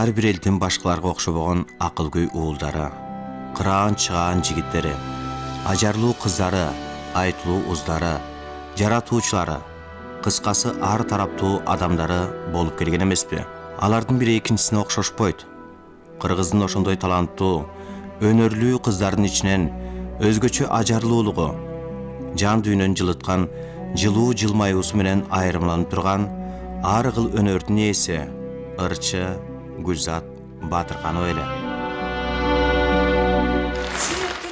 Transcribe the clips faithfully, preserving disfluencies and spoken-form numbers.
ар бир элдин башкаларга окшобогон акылгөй уулдары, кыраан чыгаан жигиттери, ажарлуу кыздары, айтылуу уздары, жаратуучулары, кыскасы ар тараптуу адамдары болуп келген эмеспи? Алардын бири экинчисине окшошпойт. Кыргыздын ошондой таланттуу, өнөрлүү кыздардын ичинен өзгөчө ажарлуулугу, жан дүйнөнү жылыткан жылуу жылмаюусу менен айырмаланып турган ар кыл өнөрдүн ээси ырчы Гүлзат Батырканова эле.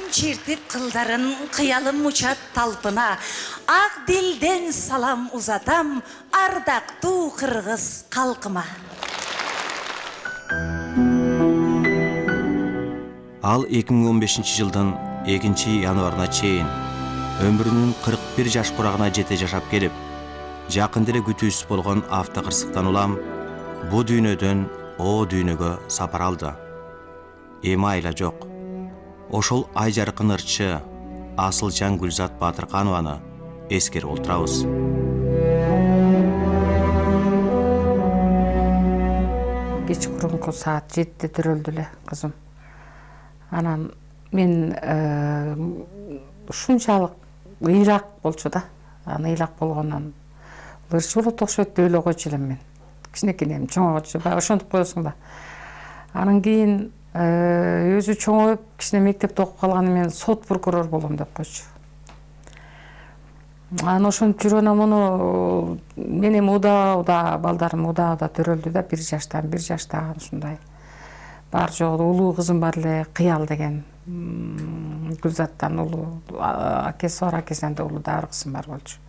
Жүрөктүн чертип кылдарын кыялым учат талпына, ак дилден салам узатам ардактуу кыргыз калкыма. Ал эки миң он бешинчи жылдын экинчи январына чейин өмүрүнүн кырк бир жаш курагына жете жашап келип, жакын деле күтүүсүз болгон автокырсыктан улам бу дүйнөдөн о дүйнөгө сапар алды. Эми айла жок. Ошол ай жаркын ырчы, асылжан Гүлзат Батырканованы эскерип отурабыз. Кечкурунку саат жетиде төрөлдү эле кызым. Анан мен ушунчалык ыйлак болчу да. Анан ыйлак болгондон ырчы болот окшойт деп эле койчу элем мен. Кичинекейинен чоңойгочу баягы ошентип коесуң да. Анан кийин өзү чоңоюп, кичине мектепте окуп калганы менен сот прокурор болом деп койчу. Анан ошентип жүрүп муну менин уда-уда балдарым уда-уда төрөлдү да, бир жаштан, бир жаштаган ушундай. Бар жогу улуу кызым бар эле, Кыял деген. Гүлзаттан улуу акеси бар, акесинен да улуу дагы бир кызым бар болчу.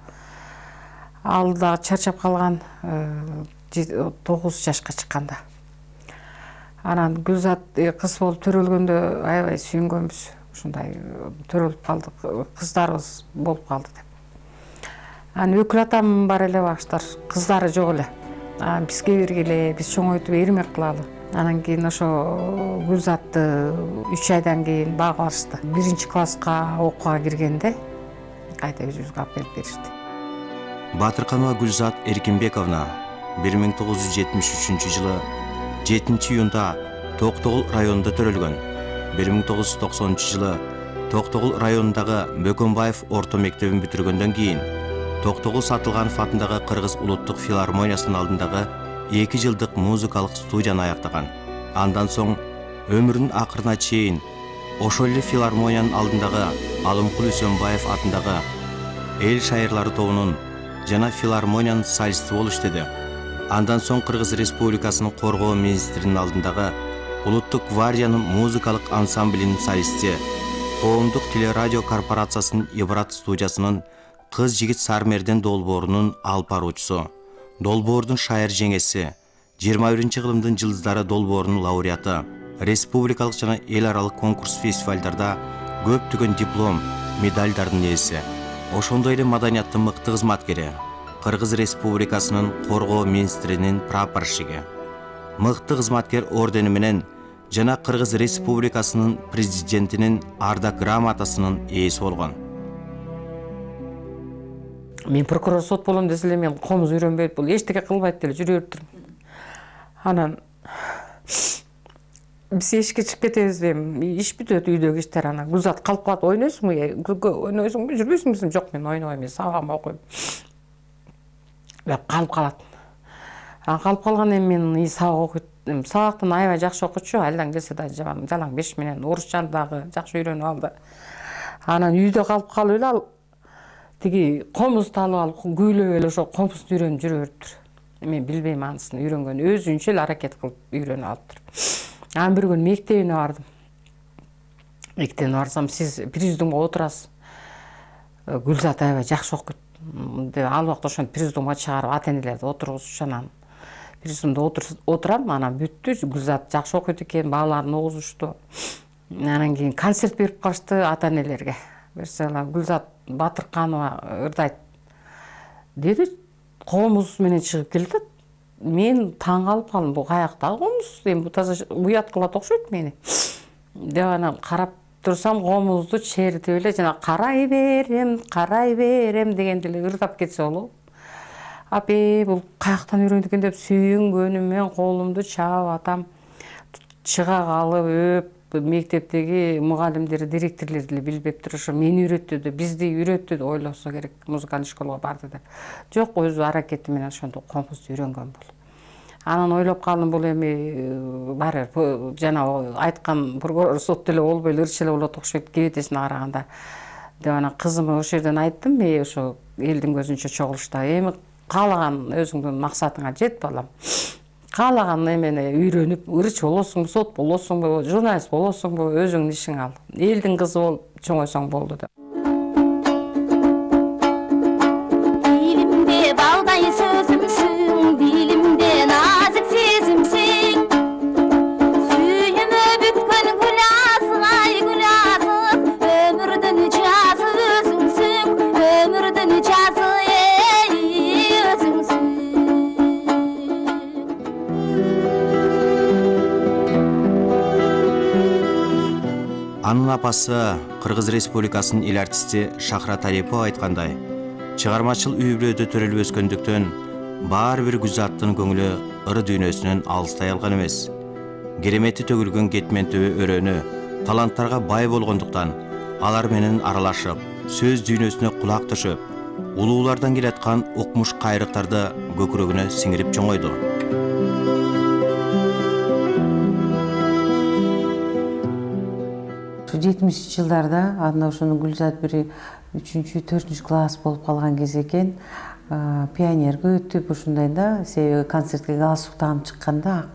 Ал дагы чарчап калган, тогуз жашка чыкканда. Анан Гүлзат кыз болуп төрөлгөндө аябай сүйүнгөнбүз. Ушундай төрөлүп калдык, кыздарыбыз болуп калды деп. Анан өкүл атам бар эле баштар, кыздары жок эле. Анан бизге бергиле, биз чоңойтуп эрмек кылалы. Анан кийин ошо Гүлзатты үч айдан кийин багып алышты. Биринчи класска окууга киргенде кайта өзүбүзгө алып келип беришти. Батырканова Гүлзат Эркинбековна бир миң тогуз жүз жетимиш үчүнчү жылы жетинчи июнда Токтогул районунда төрөлгөн. бир миң тогуз жүз токсонунчу жылы Токтогул районундагы Бөкөнбаев орто мектебин бүтүргөндөн кийин Токтогул Сатылганов атындагы Кыргыз улуттук филармониясынын алдындагы эки жылдык музыкалык студияны аяктаган. Андан соң өмүрүнүн акырына чейин ошол эле филармониянын алдындагы Алымкул Үсөнбаев атындагы эл шайырлары тобунун жана филармониянын солисти болуп иштеди. Андан соң Кыргыз Республикасынын коргоо министринин алдындагы Улуттук гвардиянын музыкалык ансамблинин солисти, Коомдук телерадио корпорациясынын Ибрат студиясынын Кыз жигит Сармерден долбоорунун алып баруучусу, долбоордун шайыр жеңеси, жыйырма биринчи кылымдын жылдыздары долбоорунун лауреаты, республикалык жана эл аралык конкурс фестивалдарда көптөгөн диплом, медальдардын ээси. Ошондой эле маданияттын мыкты кызматкери, Кыргыз Республикасынын коргоо министринин прапорщиги, мыкты кызматкер ордени менен жана Кыргыз Республикасынын президентинин ардак грамотасынын ээси болгон. Мен прокурор сот болом десе эле мен комуз үйрөнбөйт, бул эчтеке кылбайт деле жүрө берип турдум. Анан биз эшикке чыгып кетебиз, иш бүтөт, үйдөгү иштер. Анан Гүлзат калып калат, ойнойсуңбу, күлкө ойнойсуңбу, жүрбөйсүңбү? Жок, мен ойнобойм, мен сабагымды окуйм. Деп калып калат. Анан калып калган эми мен сабак окуйт. Сабактан аябай жакшы окучу, айылдан келсе да жалаң беш менен орусчаны дагы жакшы үйрөнүп алды. Анан үйдө калып калып эле ал тиги комузду алып алып күүлөп эле ошо комузду үйрөнүп жүрө бериптир. Мен билбейм анысын үйрөнгөн, өзүнчө эле аракет кылып үйрөнүп алыптыр. Анан бир күнү мектебине бардым. Мектебине барсам, сиз президиумга отурасыз. Гүлзат аябай жакшы окуйт. Ал убакта ошентип президиумга чыгарып ата-энелерди отургузчу. Анан президиумда отурам, анан бүттү. Гүлзат жакшы окуйт экен, бааларын угузушту. Анан кийин концерт берип калышты ата-энелерге. Берсе Гүлзат Батырканова ырдайт деди, комуз менен чыгып келди. Мен таң калып калдым, бул каяктагы комуз? Эми бул таза уят кылат окшойт мени. Деп анан карап турсам, комузду чертип эле жана карай берем, карай берем дегенде эле ырдап кетсе болобу. Апе, бул каяктан үйрөндү экен деп сүйүнгөнүмөн колумду чаап атам. чыга калып өп мектептеги мугалимдер, директорлор деле билбептир, ошо мени үйрөттү деп, бизди үйрөттү деп ойлосо керек, музыкалдык школага барды деп. Жок, өзү аракети менен ошондо комузду үйрөнгөн бул. Анан ойлоп калдым, бул эми баары жана айткан прокурор сот деле болбой эле ырчы эле болот окшойт кебетесине караганда деп, анан кызыма ошол жерден айттым, мен ошо элдин көзүнчө чогулушта, эми каалаган өзүңдүн максатыңа жет балам. Каалаган эмени үйрөнүп, ырчы болосуңбу, сот болосуңбу, журналист болосуңбу, өзүңдүн ишиң ал. Элдин кызы болуп чоңойсоң болду деп. Диlimde balday sözümsün, dilimde nazik sezimsin. Suyumu bütkün gülasın, ay gülasın. Ömürdün cazı özünsün, ömürdün cazı ey özünsün. Анын апасы Кыргыз Республикасынын эл артисти Шахрат Алипова айткандай, чыгармачыл үй-бүлөдө төрөлүп өскөндүктөн баары бир Гүлзаттын көңүлү ыры дүйнөсүнөн алыстай алган эмес. Керемети төгүлгөн кетмен төбө өрөөнү таланттарга бай болгондуктан алар менен аралашып, сөз дүйнөсүнө кулак төшөп, улуулардан келаткан укмуш кайрыктарды көкүрөгүнө сиңирип чоңойду. жетимишинчи жылдарда анда ошону Гүлзат бир үчүнчү, төртүнчү класс болуп калган кез экен. Пионерге өтүп ушундай да, себеби концертке галстук тагып чыкканда,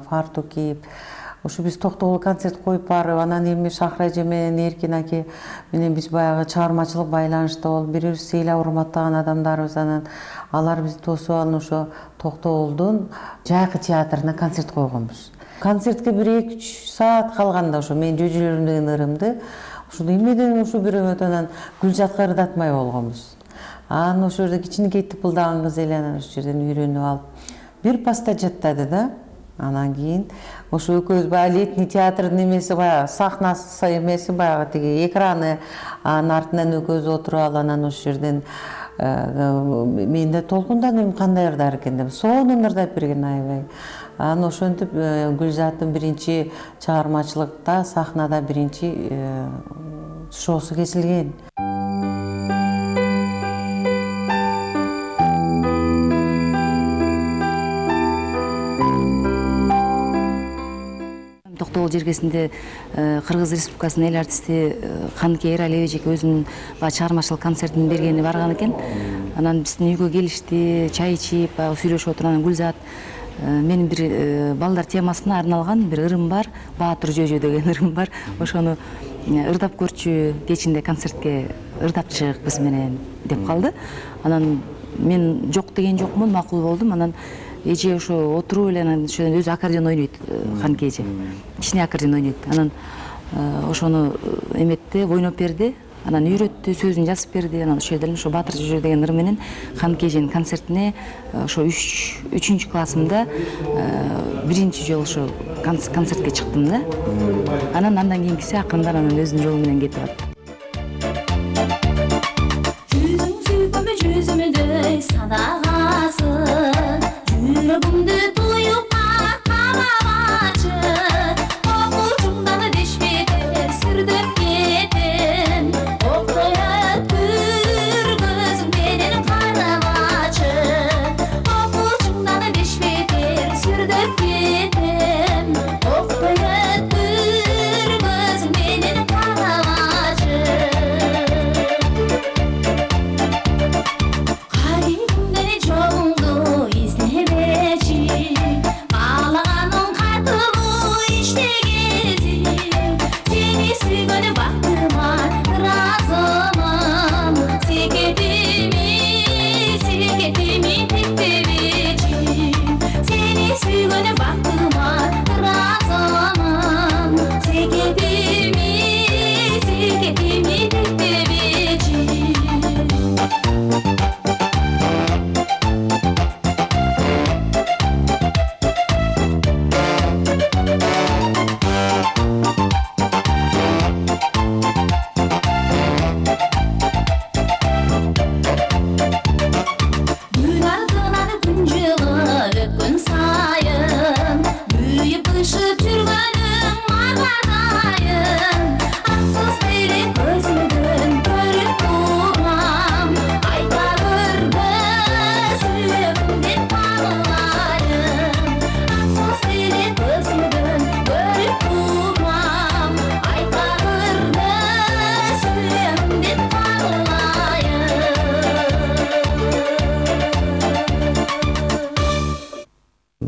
фартук кийип, ошо биз токтогул концерт коюп барып, анан эми Шахра эже менен Эркин аке менен биз баягы чыгармачылык байланышта болуп, бири бирибизди ыйлап урматтаган адамдарбыз. Анан алар бизди тосуп алып ошо Токтогулдун жайкы театрына концерт койгонбуз. Концертке бир эки үч саат калганда ошо мен жөжөлөрүм деген ырымды ушул эмнеден ушу бирөөт анан Гүлзатка ырдатмай болгонбуз. Анан ошол жерде кичинекей тыпылдаган кыз эле анан ошол жерден үйрөнүп алып бир паста жаттады да. Анан кийин ошо экөөбүз баягы летний театрдын эмеси, баягы сахнасы эмеси, баягы тиги экраны, анын артынан экөөбүз отуруп алып, анан ошол жерден мен да толкундадым, кандай ырдар экен деп, сонун ырдап берген аябай. Анан ошентип Гүлзаттын биринчи чыгармачылыкта, сахнада биринчи шоусу кесилген. Токтогул жергесинде Кыргыз Республикасынын эл артисти Каныкей Эралиев эжеке өзүнүн чыгармачылык концертин бергени барган экен. Анан биздин үйгө келишти, чай ичип, сүйлөшүп отуруп, анан Гүлзат, менин бир балдар темасына арналган бир ырым бар, Баатыр жөжө деген ырым бар. Ошону ырдап көрчү, кечинде концертке ырдап чыгык биз менен деп калды. Анан мен жок деген жокмун, макул болдум. Анан эже ошо отуруп эле анан ошодон өзү аккордеон ойнойт, Каныкей эже. Кичине аккордеон ойнойт. Анан ошону эметти, ойноп берди. Анан үйрөттү, сөзүн жазып берди. Анан ошол жерден ошо Баатыр жөжө деген ырым менен Каныкей эженин концертине ошо үчүнчү классымда биринчи жолу ошо концертке чыктым да. Анан андан кийинкиси акырындан анан өзүнүн жолу менен кетип атты. Жүзүң сүйкүмү жүзүмдөй садагасың, жүрөгүмдү туюп кабагачы, окуучуңдан дешмедер сүрдөп кетем, октоят күргөзүң менен карагачы, окуучуңдан дешмедер сүрдөп кетем, октоят күргөзүң менен карагачы. Kalbimde çoğundu izlemeci,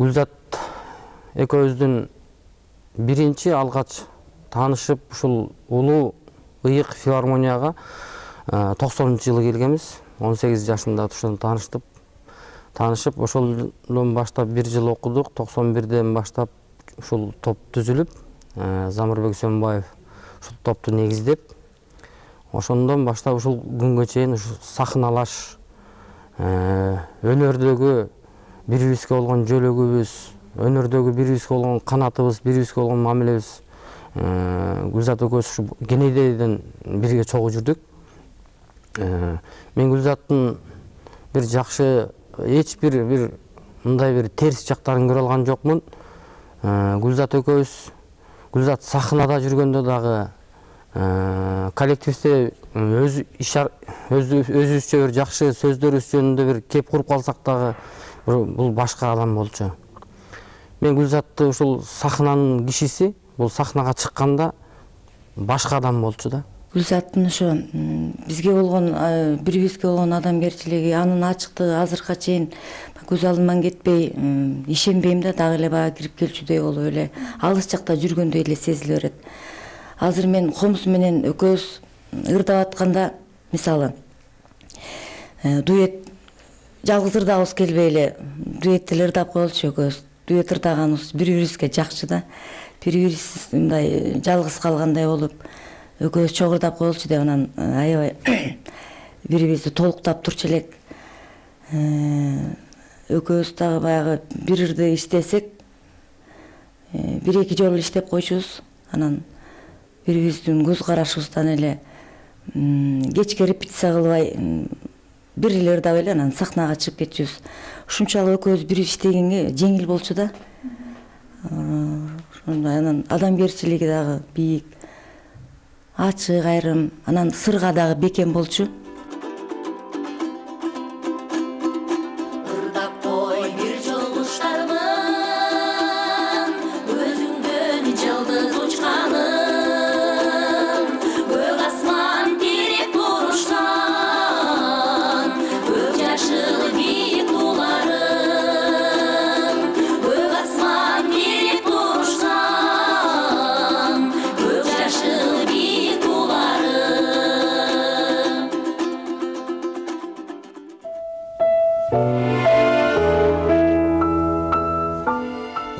Гүлзат экөөбүздүн биринчи алгач таанышып ушул улуу ыйык филармонияга токсонунчу жылы келгенбиз. он сегиз жашымда ошондо тааныштып таанышып ошолдон баштап бир жыл окудук. токсон бирден баштап ушул топ түзүлүп, Замырбек Сөнбаев ушул топту негиздеп, ошондон баштап ушул күнгө чейин ушу сахналаш, өнөрдөгү бири-бирибизге болгон жөлөгүбүз, өнөрдөгү бири-бирибизге болгон канатыбыз, бири-бирибизге болгон мамилебиз Гүлзат экөөбүз ушу кенедейден бирге чогуу жүрдүк. Мен Гүлзаттын бир жакшы, эч бир бир мындай бир терс жактарын көрө алган жокмун. Гүлзат экөөбүз, Гүлзат сахнада жүргөндө дагы коллективде өз өзүбүзчө бир жакшы сөздөрүбүз жөнүндө бир кеп куруп калсак дагы бул башка адам болчу. Мен Гүлзатты ушул сахнанын кишиси, бул сахнага чыкканда башка адам болчу да. Гүлзаттын ошо бизге болгон, бири-бирибизге болгон адамгерчилиги, анын ачыктыгы азыркыга чейин көз алдыман кетпей, ишенбейм да, дагы эле бага кирип келчүдөй болуп эле алыс жакта жүргөндөй эле сезиле берет. Азыр мен комуз менен экөөбүз ырдап атканда, мисалы, дуэт жалгыз ырдагыбыз келбей эле дуэт эле ырдап коелучу экөөбүз. Дуэт ырдаганыбыз бири-бирибизге жакчы да. Бири-бирибиз мындай жалгыз калгандай болуп, экөөбүз чогуу ырдап коелучу деп анан аябай бири-бирибизди толуктап турчу элек. Экөөбүз дагы баягы бир ырды иштесек, бир эки жолу иштеп койчубуз. Анан бири-бирибиздин көз карашыбыздан эле кечке репетиция кылбай бир эле ырдап эле анан сахнага чыгып кетчүбүз. Ушунчалык экөөбүз бир иштегенге жеңил болчу да. Ошондой анан адамгерчилиги дагы бийик, ачык айрым, анан сырга дагы бекем болчу.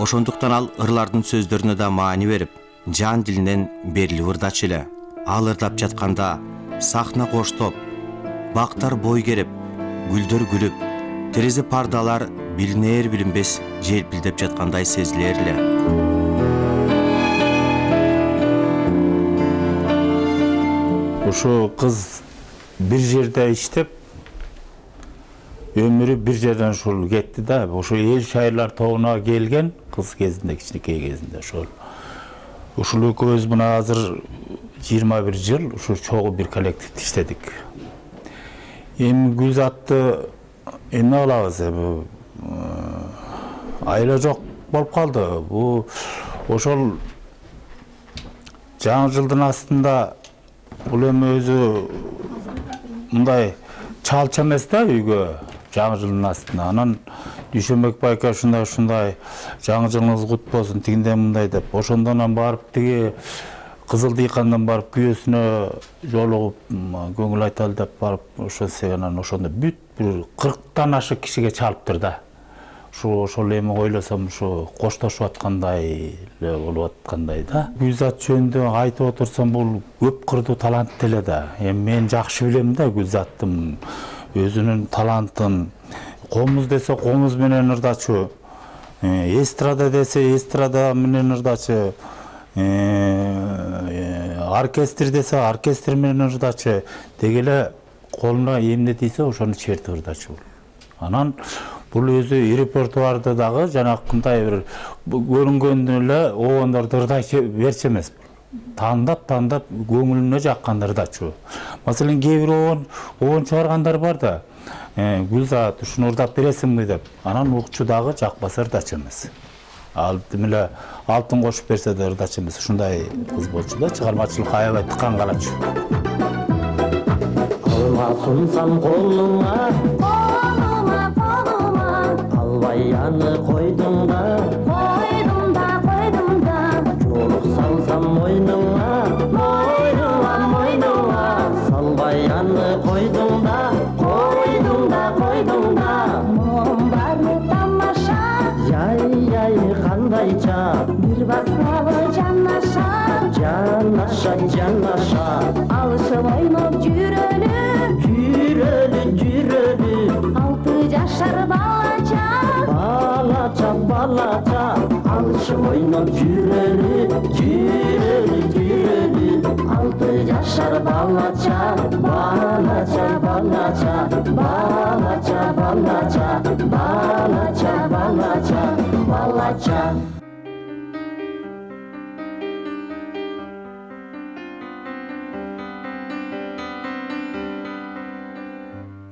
Ошондуктан ал ырлардын сөздөрүнө да маани берип, жан дилинен берилип ырдачу эле. Ал ырдап жатканда сахна коштоп, бактар бой керип, гүлдөр күлүп, терезе пардалар билинер билинбес желпилдеп жаткандай сезилер эле. Ушу кыз бир жерде иштеп, өмүрү бир жерден ушул кетти да. Ошо эл шайырлар тобуна келген кыз кезинде, кичинекей кезинде ошол. Ушул экөөбүз мына азыр жыйырма бир жыл ушу чогуу бир коллективде иштедик. Эми Гүлзатты эмне кылабыз? Эми айла жок болуп калды. Бу ошол жаңы жылдын астында бул эми өзү мындай чалча эмес да үйгө. Жаңы жылдын астына анан Дүйшөнбек байка ушундай ушундай жаңы жылыңыз кут болсун тигиндей мындай деп ошондон барып тиги Кызыл Дыйкандан барып күйөөсүнө жолугуп көңүл айталы деп барып ошо себенан ошондо бүт бир кырктан ашык кишиге чалыптыр да. Ушу ошол эми ойлосом ушу коштошуп аткандай эле болуп аткандай да. Гүлзат жөнүндө айтып отурсам бул көп кырдуу талант эле да. Эми мен жакшы билем да Гүлзаттын өзүнүн талантын. Комуз десе комуз менен ырдачу, эстрада десе эстрада менен ырдачу, оркестр десе оркестр менен ырдачу. Деги эле колуна эмне тийсе ошону чертип ырдачу. Анан бул өзү репертуарды дагы жанакындай бир көрүнгөндө эле обондорду ырдай берчү эмес. Тандап тандап көңүлүнө жаккан ырдачу. Маселен кээ бир обон обон чыгаргандар бар да. Гүлзат ушуну ырдап бересиңби деп. Анан укчу дагы жакпаса ырдачу эмес. Ал демеле алтын кошуп берсе да ырдачу эмес. Ушундай кыз болчу да, чыгармачылыкка аябай тыккан калачу. Алма сунсам колуңа, колуңа, колуңа, албай аны койдуң да жанаша жанаша алышып ойноп жүрөлү жүрөлү жүрөлү алты жашар балача балача балача алышып ойноп жүрөлү жүрөлү жүрөлү алты жашар балача балача балача балача балача балача балача балача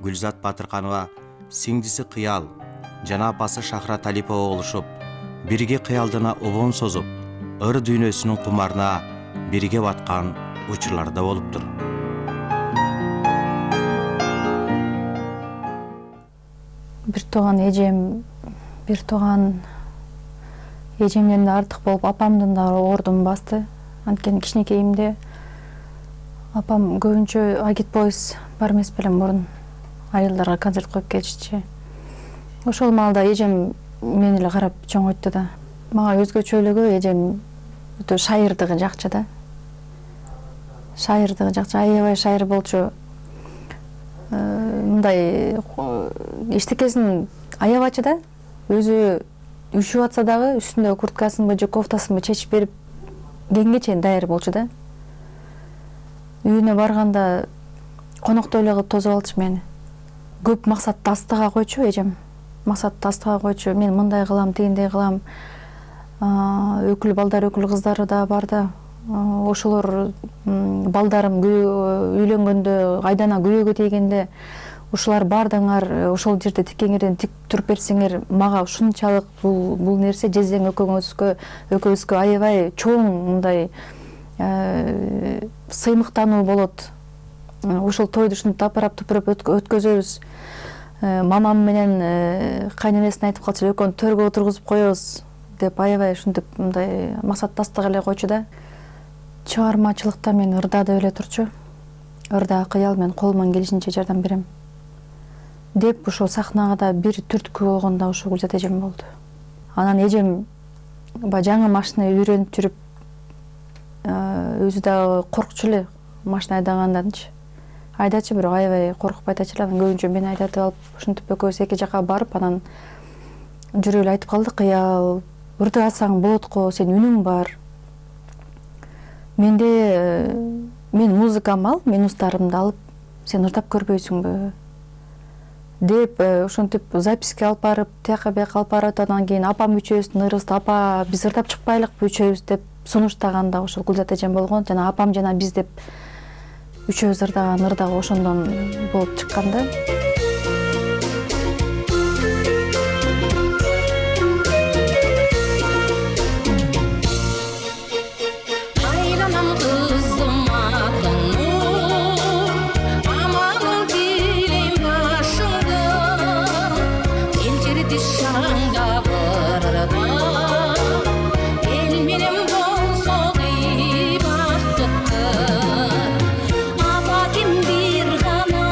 Гүлзат Батырканова сиңдиси Кыял жана апасы Шахра Талипова болушуп, бирге кыялдана обон созуп, ыр дүйнөсүнүн кумарына бирге баткан учурлар да болуптур. Бир тууган эжем, бир тууган эжемден да артык болуп, апамдын да ордун басты. Анткени кичинекейимде апам көбүнчө агит бойс бар эмес белем мурун айылдарга концерт коюп кетишчи. Ошол маалда эжем мени эле карап чоңойтtu да. Мага өзгөчөлүгү эжем өтө шайырдыгы жакчы да. Шайырдыгы жакчы, аябай шайыр болчу. Мындай эчтекесин аябачы да. Өзү үшүп атса дагы үстүндөгү курткасынбы же кофтасынбы чечип берип кеңге чейин даяр болчу да. Үйүнө барганда коноктой эле кылып тосуп алчу мени. Көп максатты астыга койчу эжем. Максатты астыга койчу. Мен мындай кылам, тигиндей кылам. Өкүл балдар, өкүл кыздары да бар да. Ошолор балдарым үйлөнгөндө, айдана күйөөгө тийгенде ушулар бардыңар, ошол жерде тиккеңерден тик туруп берсеңер, мага ушунчалык бул бул нерсе жездең экөөңүзгө, экөөбүзгө аябай чоң мындай сыймыктануу болот. Ушул тойду ушинтип апарап тупуруп өткөзөбүз. Мамам менен кайненесине айтып калчу, экөөнү төргө отургузуп коебуз деп аябай ушинтип мындай максаттастык эле койчу да. Чыгармачылыкта мен ырда деп эле турчу. Ырда Кыял мен колуман келишинче жардам берем деп ошо сахнага да бир түрткү болгон да ошо Гүлзат эжем болду. Анан эжем баягы жаңы машина үйрөнүп жүрүп, өзү дагы коркчу эле машина айдаганданчы. Айдачы, бирок аябай коркуп айдачу эле. Анан көбүнчө мени айдатып алып, ушинтип экөөбүз эки жака барып, анан жүрүп эле айтып калды: "Кыял, ырдасаң болот го, сен үнүң бар. Менде мен музыкам ал, мен устарымды алып, сен ырдап көрбөйсүңбү?" деп ушинтип записке алып барып, тияка бияка алып барып, анан кийин апам үчөөбүздүн ырыбызды "Апа, биз ырдап чыкпайлыкпы үчөөбүз" деп сунуштаган да ошол Гүлзат эжем болгон. Жана апам жана биз деп үчөөбүз ырдаган ыр дагы ошондон болуп чыккан да. Апа ким бир гана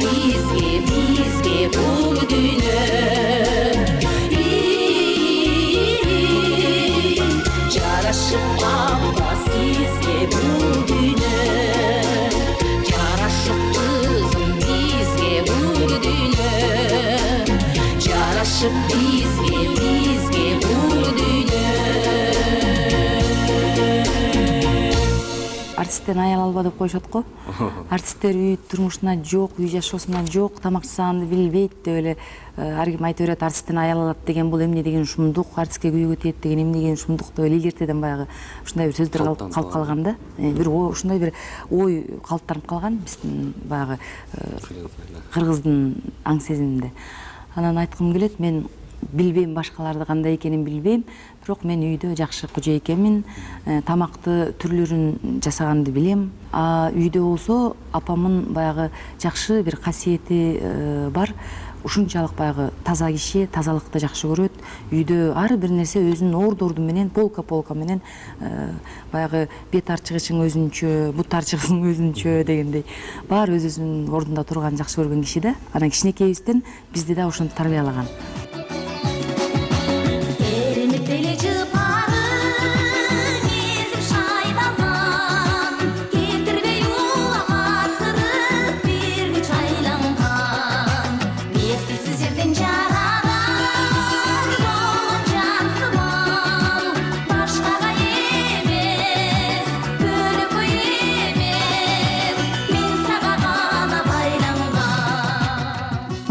бизге бизге бул дүйнө жарашып апа сизге бул дүйнө жарашып кызым бизге бул дүйнө жарашып бизге бизге бул дүйнө артисттен аял алба деп коюшат го. Артисттер үй турмушунда жок, үй жашоосунда жок, тамак жасаганды билбейт деп эле ар ким айта берет. Артисттен аял алат деген бул эмне деген шумдук, артистке күйгө тиет деген эмне деген шумдук деп эле илгертеден баягы ушундай бир сөздөр калып калган да. Бир ушундай бир ой калыптанып калган биздин баягы кыргыздын аң сезиминде. Анан айткым келет, мен билбейм башкаларды кандай экенин билбейм, бирок мен үйдө жакшы кожо экенмин, тамакты түрлөрүн жасаганды билем. А үйдө болсо апамдын баягы жакшы бир касиети бар. Ушунчалык баягы таза киши, тазалыкты жакшы көрөт. Үйдө ар бир нерсе өзүнүн орду-орду менен, полка-полка менен баягы бет арчыгычың өзүнчө, бут арчыгысың өзүнчө дегендей баары өз-өзүнүн ордунда турган жакшы көргөн киши да. Анан кичинекейибизден бизди да ошентип тарбиялаган.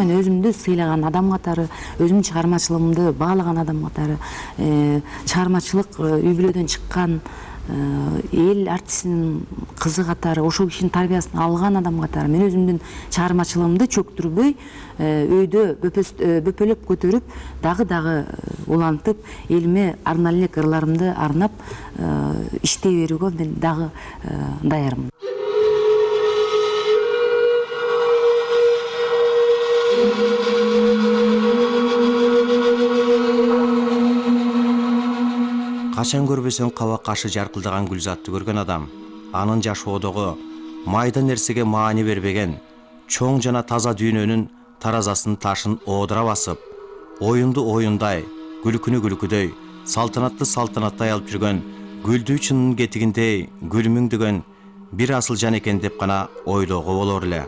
Мен өзүмдү сыйлаган адам катары, өзүмдүн чыгармачылыгымды баалаган адам катары, чыгармачылык үй бүлөдөн чыккан эл артистинин кызы катары, ошол кишинин тарбиясын алган адам катары мен өзүмдүн чыгармачылыгымды чөктүрбөй, өйдө бөпөлөп көтөрүп, дагы-дагы улантып, элиме арнайы элек ырларымды арнап иштей берүүгө мен дагы даярмын. Качан көрбөсөң каба кашы жаркылдаган Гүлзатты көргөн адам анын жашоодогу майда нерсеге маани бербеген, чоң жана таза дүйнөнүн таразасын ташын оодура басып, оюнду оюндай, күлкүнү күлкүдөй, салтанатты салтанаттай алып жүргөн гүлдүү чынын кетигиндей гүлмүңдөгөн бир асыл жан экен деп гана ойлоого болор эле.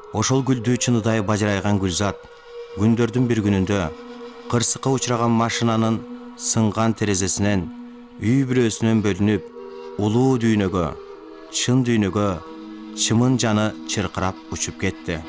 Ошол гүлдүү чыныдай бажырайган Гүлзат күндөрдүн бир күнүндө кырсыкка учураган машинанын сынган терезесинен үй бүлөсүнөн бөлүнүп, улуу дүйнөгө, чын дүйнөгө чымын жаны чыркырап учуп кетти.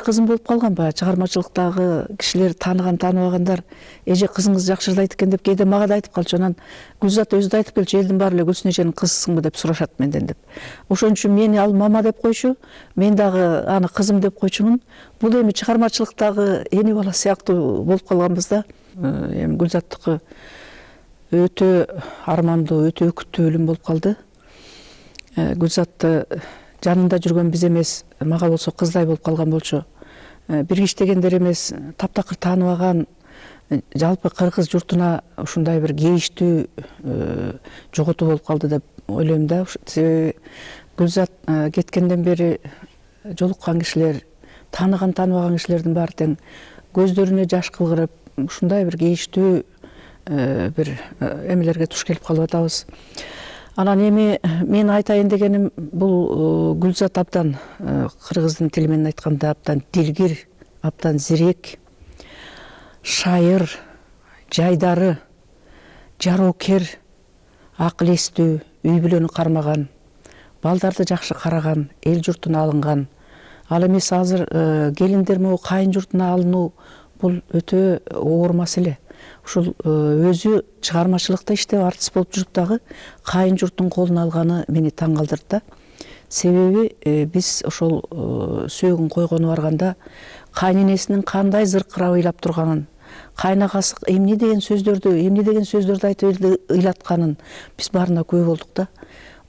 Кызым болуп калган баягы чыгармачылыктагы кишилер тааныган тааныбагандар эже кызыңыз жакшы ырды айтып экен деп кээде мага да айтып калчу. Анан Гүлзат өзү да айтып келчү, элдин баары эле Гүлсүн эженин кызысыңбы деп сурашат менден деп. Ошон үчүн мени ал мама деп койчу, мен дагы аны кызым деп койчумун. Бул эми чыгармачылыктагы эне бала сыяктуу болуп калганбыз да. Эми Гүлзаттыкы өтө армандуу, өтө өкүттүү өлүм болуп калды. Гүлзатты жанында жүргөн биз эмес, мага болсо кыздай болуп калган болчу. Бир иштегендер эмес, таптакыр тааныбаган, жалпы кыргыз журтуна ушундай бир кейиштүү жоготуу болуп калды деп ойлойм да. Себеби Гүлзат кеткенден бери жолуккан кишилер, тааныган тааныбаган кишилердин баары тең көздөрүнө жаш кылгырып, ушундай бир кейиштүү бир эмелерге туш келип калып атабыз. Анан эми мен айтайын дегеним, бул Гүлзат абдан кыргыздын тили менен айтканда абдан дилгир, абдан зирек, шайыр, жайдары, жароокер, акыл эстүү, үй бүлөнү кармаган, балдарды жакшы караган, эл журтуна алынган. Ал эмес азыр келиндер могу кайын журтуна алынуу бул өтө оор маселе. Ушул өзү чыгармачылыкта иштеп артист болуп жүрүп дагы кайын журттун колуна алганы мени таң калтырды да. Себеби биз ошол сөөгүн койгону барганда кайненесинин кандай зыркырап ыйлап турганын, кайнагасы эмне деген сөздөрдү, эмне деген сөздөрдү айтып ыйлатканын биз баарына күбө болдук да.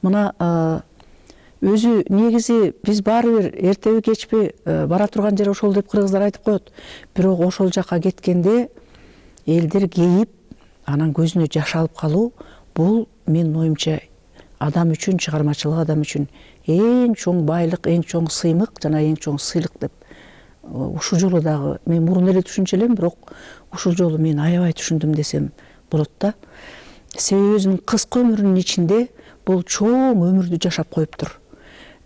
Мына өзү негизи биз баары бир эртеби кечпи бара турган жер ошол деп кыргыздар айтып коет. Бирок ошол жака кеткенде элдер кейип, анан көзүнө жаш алып калуу бул менин оюмча адам үчүн, чыгармачылык адам үчүн эң чоң байлык, эң чоң сыймык жана эң чоң сыйлык деп. Ушул жолу дагы мен мурун эле түшүнчү элем, бирок ушул жолу мен аябай түшүндүм десем болот да. Себеби өзүнүн кыска өмүрүнүн ичинде бул чоң өмүрдү жашап коюптур.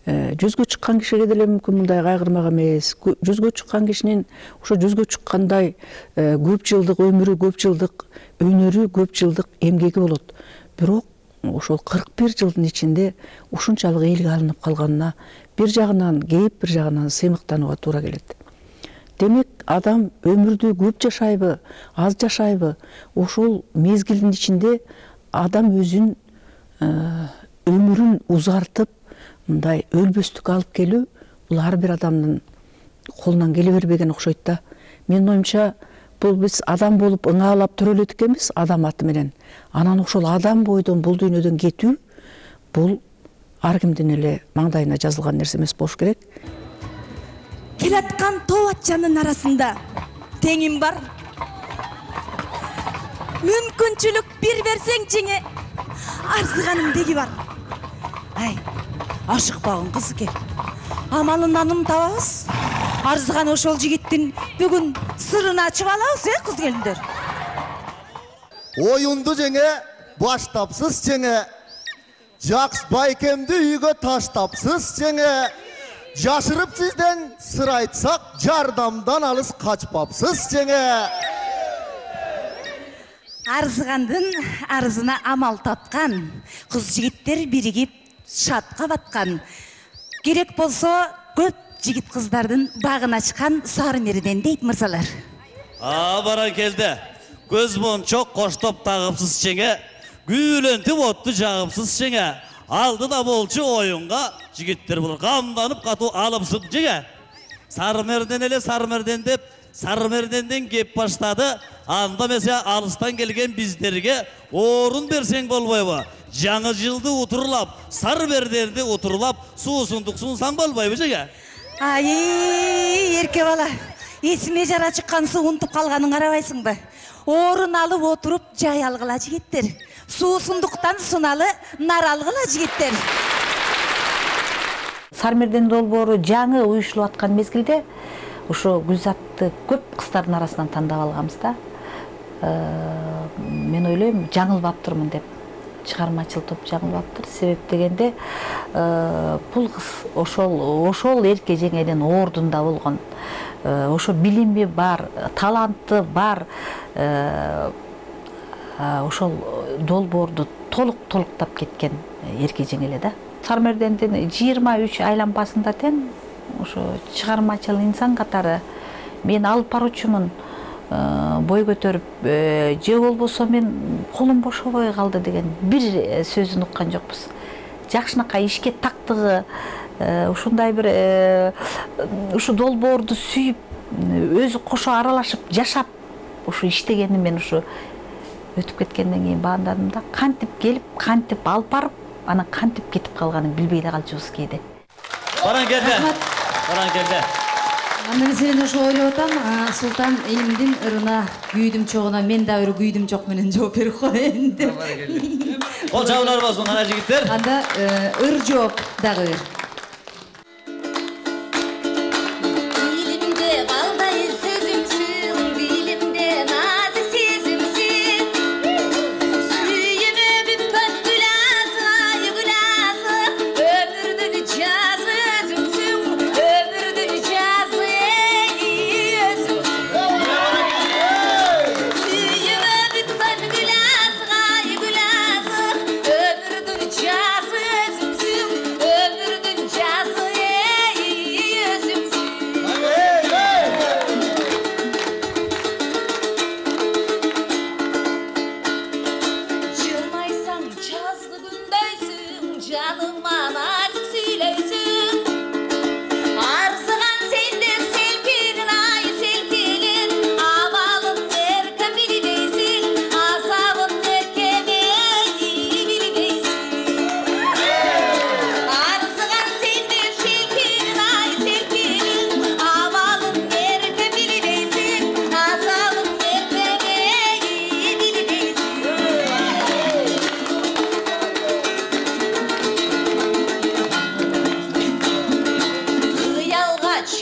Жүзгө чыккан кишиге деле мүмкүн мындай кайгырмак эмес. Жүзгө чыккан кишинин ошо жүзгө чыккандай көп жылдык өмүрү, көп жылдык өнөрү, көп жылдык эмгеги болот. Бирок ошол кырк бир жылдын ичинде ушунчалык элге алынып калганына бир жагынан кейип, бир жагынан сыймыктанууга туура келет. Демек, адам өмүрдү көп жашайбы, аз жашайбы, ошол мезгилдин ичинде адам өзүн өмүрүн узартып, мындай өлбөстүккө алып келүү бул ар бир адамдын колунан келе бербеген окшойт да. Менин оюмча, бул биз адам болуп ыңаалап төрөлөдүк эмес, адам аты менен. Анан ошол адам бойдон бул дүйнөдөн кетүү бул ар кимдин эле маңдайына жазылган нерсе эмес болуш керек. Келаткан тоо атчанын арасында теңим бар. Мүмкүнчүлүк бир берсең жеңе, арзыганым деги бар. Ай, ашыкпагын кыз экен. Амалын анын табабыз. Арзыган ошол жигиттин бүгүн сырын ачып алабыз, э, кыз келиндер. Оюнду жеңе, баштапсыз жеңе. Жакш байкемди үйгө таштапсыз жеңе. Жашырып сизден сыр айтсак, жардамдан алыс качпапсыз жеңе. Арзыгандын арзына амал тапкан, кыз жигиттер биригип шатка баткан. Керек болсо көп жигит кыздардын багын ачкан сары мерден дейт мырзалар. А, баракелде. Көз мончок коштоп тагыпсыз жеңе. Гүйлөнтүп отту жагыпсыз жеңе. Алдыда болчу оюнга жигиттер булар камданып катуу алыпсыз жеңе. Сары мерден эле сары мерден деп, сары мерденден кеп баштады. Анда месе алыстан келген биздерге орун берсең болбойбу? Жаңы жылды утурлап, сары мерденди утурлап, суусундук сунсаң болбойбу жеңе? Ай, эрке бала, эсиме жара чыккан суу унутуп калганын карабайсыңбы? Орун алып отуруп жай алгыла жигиттер. Суусундуктан суналы нар алгыла жигиттер. Сары мерден долбоору жаңы уюшулуп аткан мезгилде ошо Гүлзатты көп кыздардын арасынан тандап алганбыз да. Мен ойлойм, жаңылбаптырмын деп. Чыгармачыл топ жаңылбаптыр. Себеп дегенде бул кыз ошол ошол эрке жеңеден ордунда болгон. Ошо билими бар, таланты бар. Ошол долбоорду толук толуктап кеткен эрке жең эле да. Сары мердендин жыйырма үч айланбасында тең ошо чыгармачыл инсан катары мен алып баруучумун, бой көтөрүп, же болбосо мен колум бошобой калды деген бир сөзүн уккан жокпуз. Жакшынакай ишке тактыгы, ушундай бир ушу долбоорду сүйүп, өзү кошо аралашып жашап, ушу иштегени мен ушу өтүп кеткенден кийин баамдадым да, кантип келип, кантип алып барып, анан кантип кетип калганын билбей эле калчубуз кээде. Баран келди. Баран келди. Мен маселени ошо ойлоп атам, Султан элимдин ырына, күйдүм чогуна мен да бир күйдүм чок менен жооп берип коеюн деп. Кол чабуулар болсун ана жигиттер. Анда ыр жооп дагы бир. Ömürdün cazı özümsün, ömürdün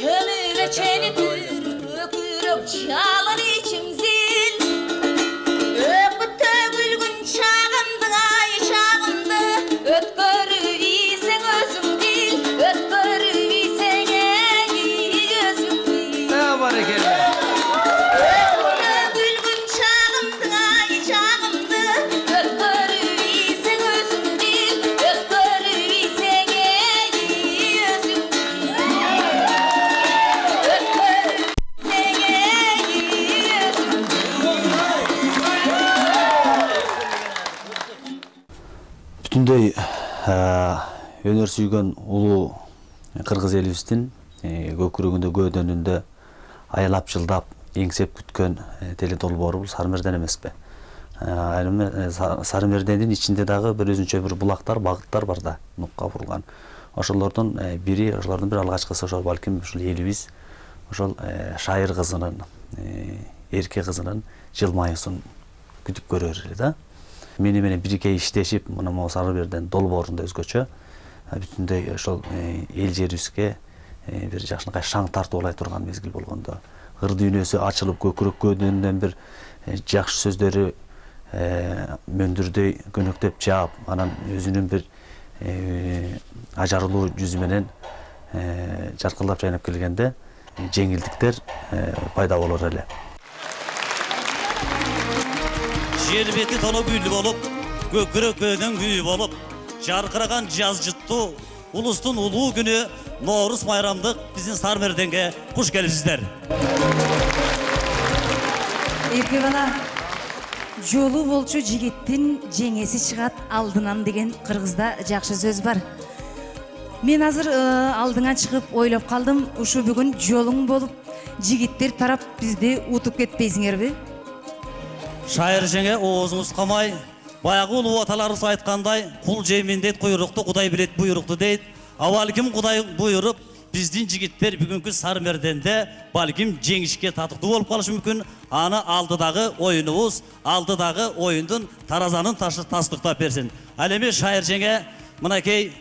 Çömüve çeli türkü kürük çalır içim zil. Öpütte gülgün çağındı ay çağındı. Ötkörü isen özüm dil. Ötkörü isen ey gözüm dil. Ne var ekele? Бүтүндөй өнөр сүйгөн улуу кыргыз элибиздин көкүрөгүндө көөдөнүндө аялап жылдап эңсеп күткөн теле долбоору бул Сарымерден эмеспи? Сарымердендин ичинде дагы бир өзүнчө бир булактар, багыттар бар да, нукка курулган. Ошолордун бири, ошолордун бир алгачкысы ошол балким ушул элибиз ошол шайыр кызынын, эрке кызынын жылмаюусун күтүп көрөр эле да. Мени менен бирге иштешип, мына могу Сарымерден долбоорунда өзгөчө бүтүндөй ошол эл жерибизге бир жакшынакай шаң тартуулай турган мезгил болгондо, ыр дүйнөсү ачылып көкүрөк көөдөнүнөн бир жакшы сөздөрү мөндүрдөй көнөктөп жаап, анан өзүнүн бир ажарлуу жүзү менен жаркылдап жайнап келгенде жеңилдиктер пайда болор эле. Жер бети тону гүл болуп, көкүрөк көөдөн күй болуп, жаркыраган жаз жыттуу улустун улуу күнү Ноорус майрамдык биздин Сарымерденге куш келипсиздер. Эрке бала, жолу болчу жигиттин жеңеси чыгат алдынан деген кыргызда жакшы сөз бар. Мен азыр алдыңа чыгып ойлоп калдым, ушу бүгүн жолуң болуп, жигиттер тарап бизди утуп кетпейсиңерби? Шайыр жеңе оозуңуз камай, баягы улуу аталарыбыз айткандай, кул жеймин дейт, куйрукту Кудай билет буйрукту дейт. А балким Кудай буйруп, биздин жигиттер бүгүнкү Сарымерденде балким жеңишке татыктуу болуп калышы мүмкүн. Аны алдыдагы оюнубуз, алдыдагы оюндун таразанын ташы тастыктап берсин. Ал эми шайыр жеңе мынакей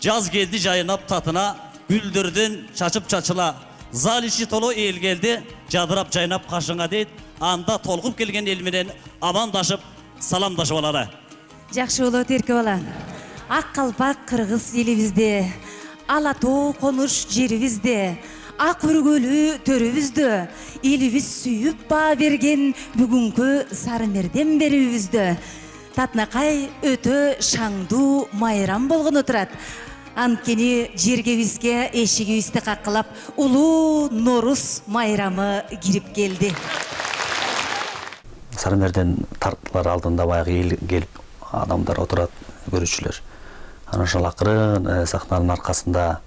жаз келди жайнап татына, гүлдөрдөн чачып чачыла. Зал ичи толо эл келди, жадырап жайнап кашыңа дейт. Анда толкуп келген эл менен амандашып, саламдашып алалы. Жакшы болот эрке бала. Ак калпак кыргыз элибизде, ала тоо конуш жерибизде, ак өргөлүү төрүбүздө, элибиз сүйүп баа берген бүгүнкү Сарымерден берүүбүздө татынакай өтө шаңдуу майрам болгону турат. Анткени жергебизге эшигибизди каккылап улуу Ноорус майрамы кирип келди. Сарымерден тартылар алдында баягы эл келип адамдар отурат, көрүүчүлөр. Анан ошол акырын сахнанын аркасында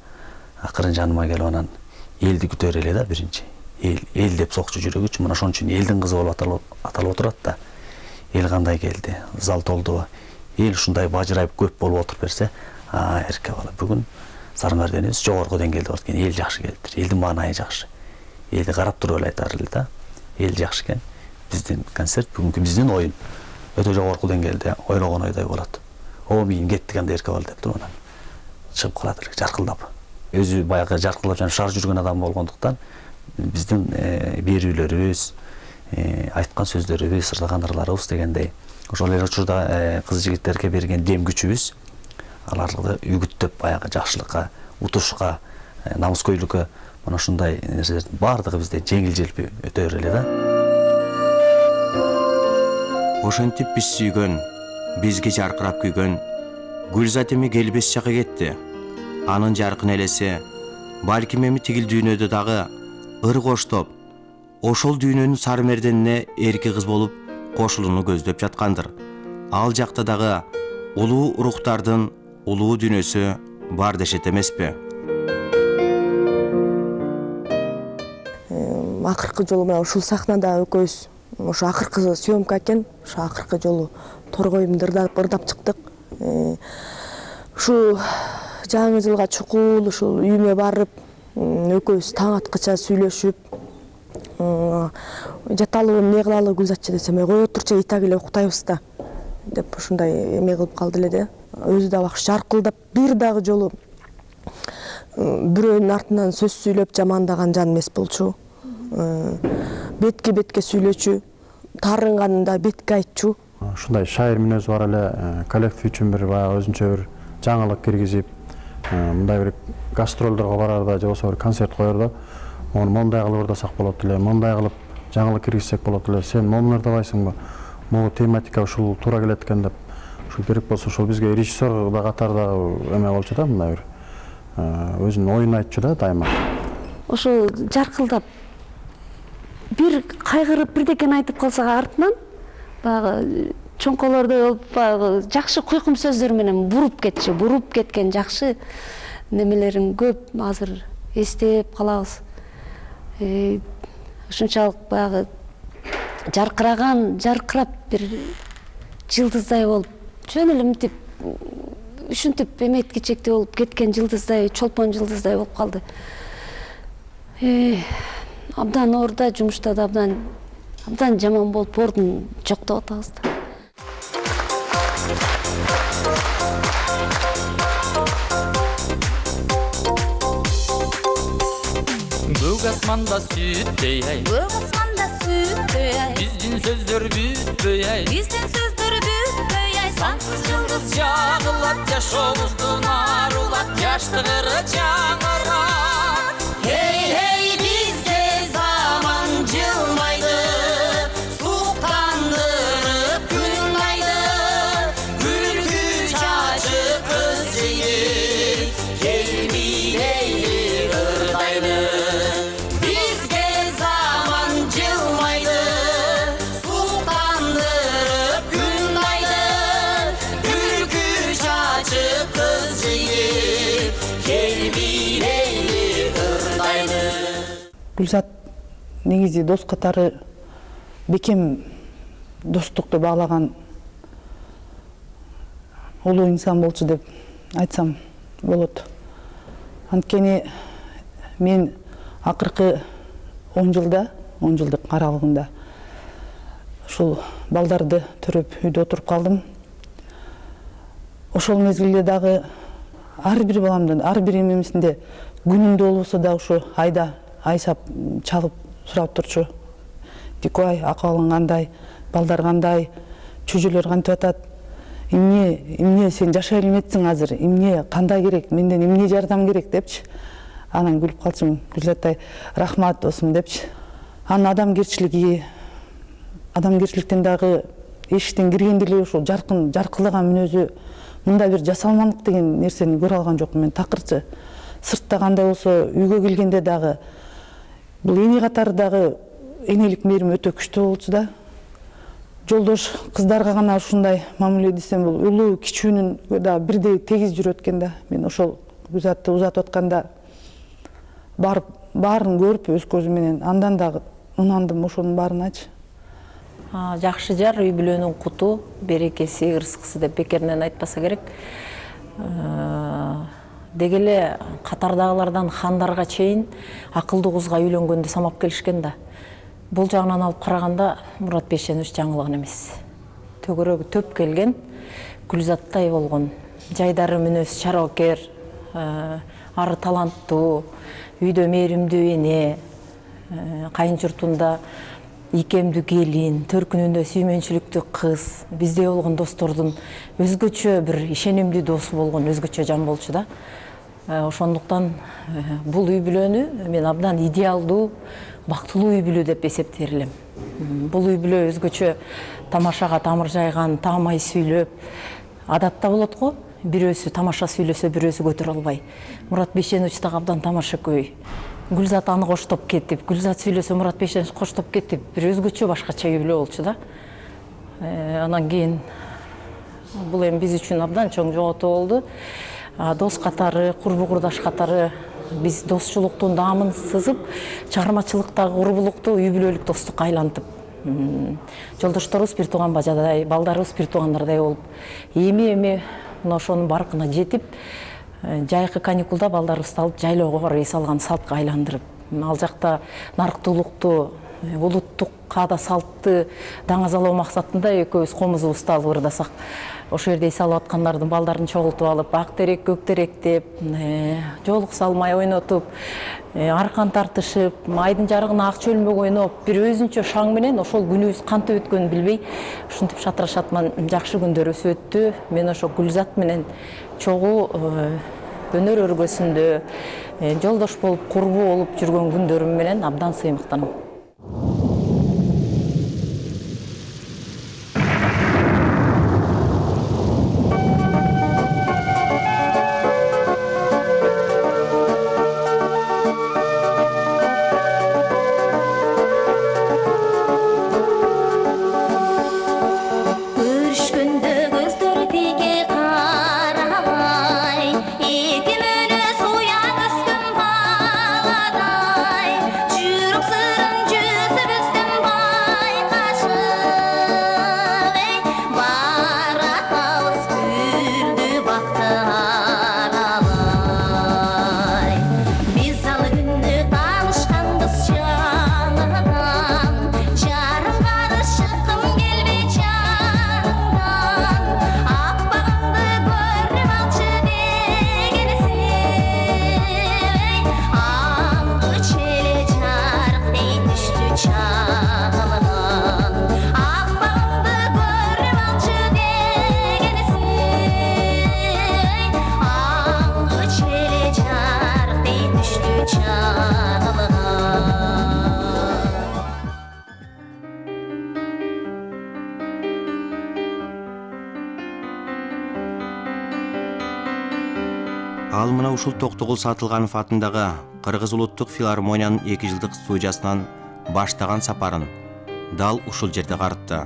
акырын жаныма келип анан элди күтөр эле да биринчи. Эл эл деп сокчу жүрөгүчү, мына ошон үчүн элдин кызы болуп аталып отурат да. Эл кандай келди, зал толду. Эл ушундай бажырайып көп болуп отуруп берсе, а эрке бала бүгүн Сарымерденибиз жогорку деңгээлде болот экен. Эл жакшы келиптир, элдин маанайы жакшы. Элди карап туруп эле айтар эле да. Эл жакшы экен. Биздин концерт бүгүнкү биздин оюн өтө жогорку деңгээлде ойлогон ойдой болот. О мейим кеттик анда эрке бала деп туруп анан чыгып калат эле жаркылдап. Өзү баягы жаркылдап жана шаар жүргөн адам болгондуктан биздин берүүлөрүбүз, айткан сөздөрүбүз, ырлаган ырларыбыз дегендей ошол эле учурда кыз жигиттерге берген дем күчүбүз аларды үгүттөп баягы жакшылыкка, утушка, намыскөйлүккө мына ушундай нерселердин баардыгы бизде жеңил желпи өтөр эле да. Ошентип биз сүйгөн, бизге жаркырап күйгөн Гүлзат эми келбес жакка кетти. Анын жаркын элеси балким эми тигил дүйнөдө дагы ыр коштоп, ошол дүйнөнүн Сарымерденине эрке кыз болуп кошулууну көздөп жаткандыр. Ал жакта дагы улуу рухтардын улуу дүйнөсү бар дешет эмеспи? Акыркы жолу мына ушул сахнада экөөбүз ошо акыркы съемка экен, ошо акыркы жолу торгоюмду ырдап чыктык. Ушу жаңы жылга чукул ушул үйүмө барып, экөөбүз таң аткыча сүйлөшүп, жаталы эмне кылалы Гүлзатчы десем, кой отурчу итак эле уктайбыз да деп ушундай эме кылып калды эле да. Өзү да бак жаркылдап бир дагы жолу бирөөнүн артынан сөз сүйлөп жамандаган жан эмес болчу. Бетке бетке сүйлөчү, таарынганында бетке айтчу. Ушундай шайыр мүнөзү бар эле, коллектив үчүн бир баягы өзүнчө бир жаңылык киргизип, мындай бир гастролдорго барарда же болбосо бир концерт коерда, мону мондай кылып ырдасак болот эле, мондай кылып жаңылык киргизсек болот эле. Сен мону ырдабайсыңбы? Могу тематика ушул туура келет экен деп, ушул керек болсо ошол бизге режиссер да катарда эме болчу да, мындай бир өзүнүн оюн айтчу да дайыма. Ошо жаркылдап бир кайгырып бирдекени айтып калсак артынан баягы чоңколордой болуп баягы жакшы куйкум сөздөр менен буруп кетчү, буруп кеткен жакшы немелерин көп азыр эстеп калабыз. Ушунчалык баягы жаркыраган, жаркырап бир жылдыздай болуп, жөн эле мынтип ушинтип эметкичектей болуп кеткен жылдыздай, чолпон жылдыздай болуп калды. Абдан орда жумушта да абдан абдан жаман болуп ордун жоктоп атабыз да. Көк асманда сүттөй ай, Көк асманда сүттөй ай, биздин сөздөр бүтпөй ай, биздин сөздөр бүтпөй ай, сансыз жылдыз жагылат, жашообуздун арулат, жаштыгыры жаңырат. Хей, хей, бизде заман жылмайды, суктандырып күн айды, күлкү чачып көз жейди, келбилейли ырдайды. Бизге заман жылмайды, суктандырып күн айды, күлкү чачып көз жейди, келбилейли ырдайды. Гүлзат негизи дос катары бекем достукту баалаган улуу инсан болчу деп айтсам болот. Анткени мен акыркы он жылда, он жылдык аралыгында ушул балдарды төрөп үйдө отуруп калдым. Ошол мезгилде дагы ар бир баламдын, ар бир эмемисинде күнүндө болбосо да ушу айда айсап чалып сурап турчу. Дикой, акыбалың кандай, балдар кандай, чөжөлөр кантип атат, эмне, эмне сен жашай элмексиң азыр, эмне кандай керек, менден эмне жардам керек депчи. Анан күлүп калчумун, Гүлзаттай, рахмат досум депчи. Анын адамгерчилиги, адамгерчиликтен дагы эшиктен киргенде эле ушул жаркын, жаркылаган мүнөзү, мындай бир жасалмандык деген нерсени көрө алган жокмун мен. Такырчы сыртта кандай болсо, үйгө келгенде дагы бул эне катары дагы энелик мээрим өтө күчтүү болчу да. Жолдош кыздарга гана ушундай мамиле десем, бул улуу кичүүнүн да бирдей тегиз жүрөт экен да. Мен ошол Гүлзатты узатып атканда барып баарын көрүп өз көзүм менен андан дагы ынандым ошонун баарыначы. Жакшы жар үй бүлөнүн куту, берекеси, ырыскысы деп бекеринен айтпаса керек. Деги эле катардагылардан хандарга чейин акылдуу кызга үйлөнгөндө самап келишкен да. Бул жагынан алып караганда Мурат Бейшенович жаңылган эмес. Төгөрөгү төп келген, Гүлзаттай болгон, жайдары мүнөз чаракер, ары таланттуу, үйдө мээримдүү эне, кайын журтунда ийкемдүү келин, төркүнүндө сүймөнчүлүктүү кыз, бизде болгон достордун өзгөчө бир ишенимдүү досу болгон өзгөчө жан болчу да. Ошондуктан бул үй бүлөнү мен абдан идеалдуу, бактылуу үй бүлө деп эсептер элем. Бул үй бүлө өзгөчө тамашага тамыр жайган, таамай сүйлөп, адатта болот го, бирөөсү тамаша сүйлөсө бирөөсү көтөрө албай. Мурат Бейшенович дагы абдан тамашакөй. Гүлзат аны коштоп кетип, Гүлзат сүйлөсө Мурат Бейшенович коштоп кетип, бир өзгөчө башкача үй бүлө болчу да. Анан кийин бул эми биз үчүн абдан чоң жоготуу болду. Дос катары, курбу курдаш катары биз досчулуктун даамын сызып, чыгармачылыктагы курбулукту үй бүлөлүк достукка айлантып, жолдошторубуз бир тууган бажадай, балдарыбыз бир туугандардай болуп, эми-эми мына ошонун баркына жетип, жайкы каникулда балдарыбызды алып жайлоого рейс алган салтка айландырып, ал жакта нарыктуулукту улуттук каада салтты даңазалоо максатында экөөбүз комузубузду алып ырдасак, ошол жерде эс алып аткандардын балдарын чогултуп алып, ак терек, көк терек деп, жоолук салмай ойнотуп, аркан тартышып, айдын жарыгына ак чөлмөк ойноп, бир өзүнчө шаң менен ошол күнүбүз кантип өткөнүн билбей, ушинтип шатырашатман жакшы күндөрүбүз өттү. Мен ошо Гүлзат менен чогуу өнөр өргөсүндө жолдош болуп, курбу болуп жүргөн күндөрүм менен абдан сыймыктанам. Ал мына ушул Токтогул Сатылганов атындагы Кыргыз улуттук филармониянын эки жылдык студиясынан баштаган сапарын дал ушул жерде карытты.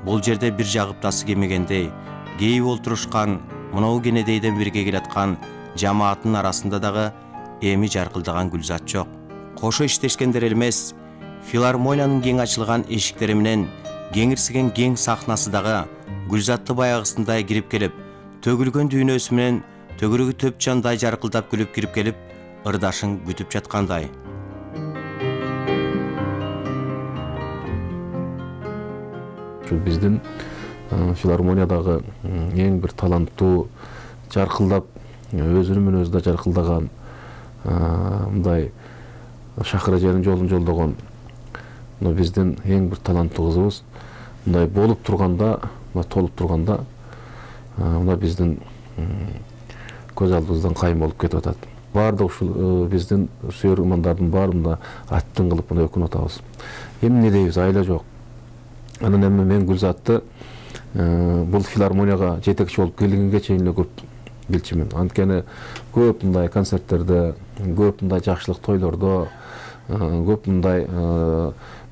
Бул жерде бир жагып тасы кемегендей, кейип олтурушкан, мынау кенедейден бирге келаткан жамааттын арасында дагы эми жаркылдаган Гүлзат жок. Кошо иштешкендер элемес, филармониянын кең ачылган эшиктери менен кеңирсиген кең сахнасы дагы Гүлзатты баягысындай кирип келип, төгүлгөн дүйнөсү менен төгүрүгү төп жандай жаркылдап күлүп кирип келип, ырдашын күтүп жаткандай. Ушул биздин филармониядагы эң бир таланттуу, жаркылдап, өзүнүн менен өзү да жаркылдаган, мындай Шакыр эженин жолун жолдогон биздин эң бир таланттуу кызыбыз. Мындай болуп турганда, толуп турганда, мына биздин көз алдыбыздан кайым болуп кетип атат. Баардык ушул биздин сүйөр угмандардын баарында аттын кылып мына өкүнүп атабыз. Эми эмне дейбиз, айла жок. Анан эми мен Гүлзатты бул филармонияга жетекчи болуп келгенге чейин эле көп билчүмүн. Анткени көп мындай концерттерде, көп мындай жакшылык тойлордо, көп мындай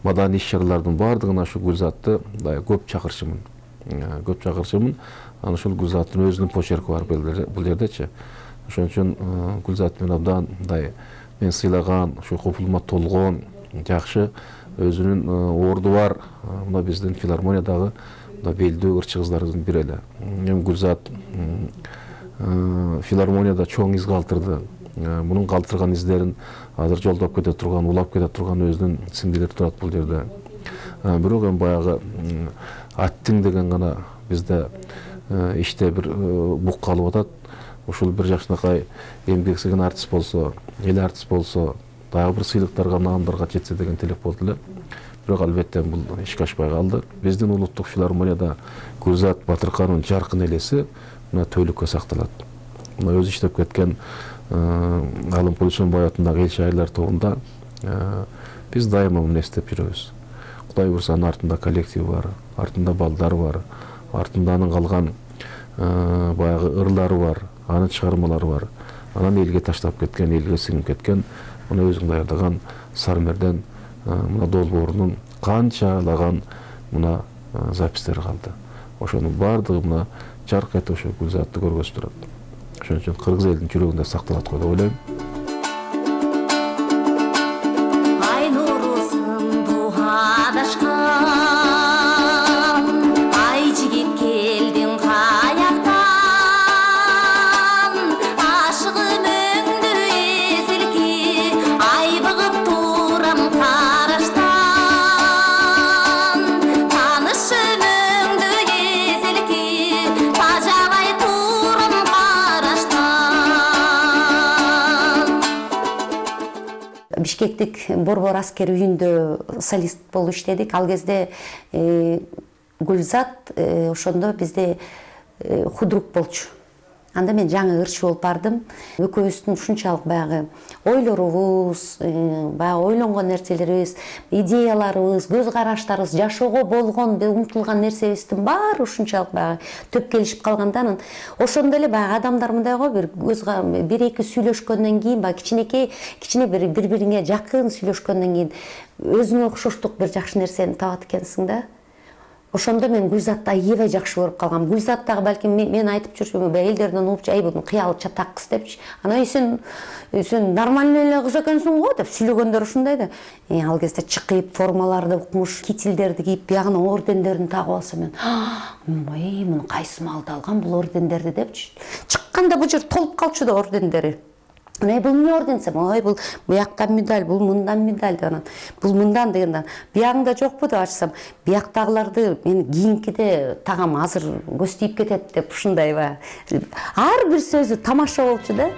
маданий иш-чаралардын баардыгына ушу Гүлзатты көп чакырчумун. Көп чакырчумун. Анан ушул Гүлзаттын өзүнүн почерки бар бул жердечи. Ошон үчүн Гүлзат менен абдан мындай мен сыйлаган, ушу копулума толгон, жакшы өзүнүн орду бар мына биздин филармониядагы белдүү ырчы кыздарыбыздын бири эле. Эми Гүлзат филармонияда чоң из калтырды. Мунун калтырган издерин азыр жолдоп кете турган, улап кете турган өзүнүн сиңдилери турат бул жерде. Бирок эми баягы аттың деген гана бизде иште бир бук калып атат. Ушул бир жакшынакай эмгек сиңген артист болсо, эл артист болсо, дагы бир сыйлыктарга, наамдарга жетсе деген телек болду эле. Бирок албетте бул ишке ашпай калды. Биздин улуттук филармонияда Гүлзат Батыркановдун жаркын элеси мына төөлүккө сакталат. Мына өзү иштеп кеткен Алым Полисонбай атындагы эл шайырлар тобунда биз дайыма муну эстеп жүрөбүз. Кудай буйрса анын артында коллективи бар, артында балдары бар, артында анын калган баягы ырлары бар, анын чыгармалары бар. Анан элге таштап кеткен, элге сиңип кеткен, мына өзүң даярдаган Сармерден мына долбоорунун канчалаган мына запистери калды. Ошонун баардыгы мына жарк этип ошо Гүлзатты көргөзүп турат. Ошон үчүн кыргыз элдин жүрөгүндө сакталат го деп ойлойм. Ай Бишкектик Борбор аскер үйүндө солист болуп иштедик. Ал кезде Гүлзат ошондо бизде худрук болчу. Анда мен жаңы ырчы болуп бардым. Экөөбүздүн ушунчалык баягы ойлорубуз, баягы ойлонгон нерселерибиз, идеяларыбыз, көз караштарыбыз, жашоого болгон, умтулган нерсебиздин баары ушунчалык баягы төп келишип калганда, анан ошондо эле баягы адамдар мындай го, бир көз бир эки сүйлөшкөндөн кийин, баягы кичинекей, кичине бир бири-бириңе жакын сүйлөшкөндөн кийин өзүңө окшоштук бир жакшы нерсени табат экенсиң да. Ошондо мен Гүлзатты аябай жакшы көрүп калгам. Гүлзат дагы балким мен айтып жүрчүмүн, элдерден угупчу, ай бунун кыялы чатак кыз депчи. Анан сен сен нормальный эле кыз экенсиң го деп сүйлөгөндөр ушундай да. Ал кезде чыкып, формаларды укмуш, кительдерди кийип, биягына ордендерин тагып алса мен, ой, муну кайсы маалда алган бул ордендерди депчи. Чыкканда бул жер толуп калчу да ордендери. Ой, бул эмне орден десем, ой, бул бияктан медаль, бул мындан медаль деп анан, бул мындан дегенде, биягыңда жокпу деп ачсам, бияктагыларды мен кийинкиде тагам азыр көз тийип кетет деп ушундай ба. Ар бир сөзү тамаша болчу да.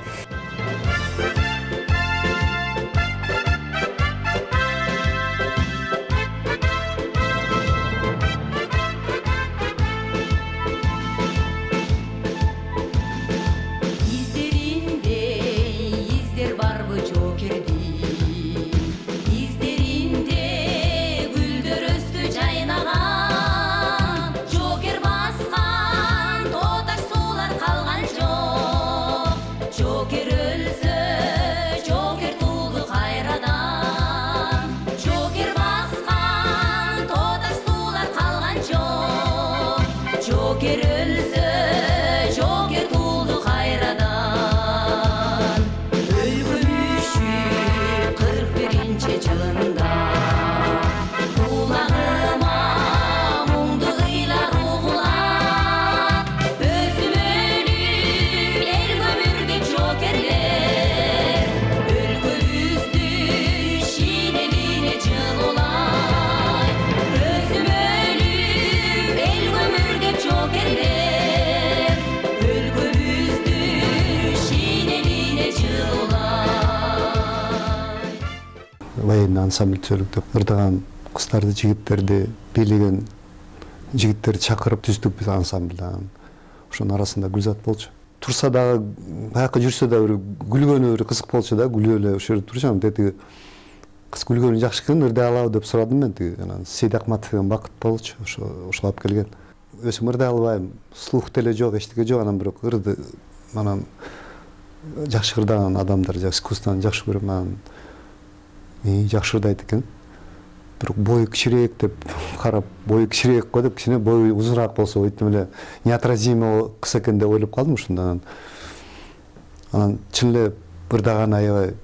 Военный ансамбль түзөлүп ырдаган кыздарды, жигиттерди, бийлеген жигиттерди чакырып түздүк биз ансамбльдан. Ошонун арасында Гүлзат болчу. Турса дагы, баякы жүрсө да бир күлгөнү бир кызык болчу да, күлүп эле ошол жерде турчу. Анан тетиги кыз күлгөнү жакшы экен, ырдай алабы деп сурадым мен. Тиги анан Сейдакматов деген Бакыт болчу, ошо ошол алып келген. Өзүм ырдай албайм, слух деле жок, эчтеке жок, анан бирок ырды анан жакшы ырдаган адамдар, искусствону жакшы көрөм. Анан жакшы ырдайт экен. Бирок бою кичирээк деп карап, бою кичирээк го деп, кичине бою узунаак болсо өйтүп эле неотразимый кыз экен деп ойлоп калдым ушундан. Анан чын эле ырдаган аябай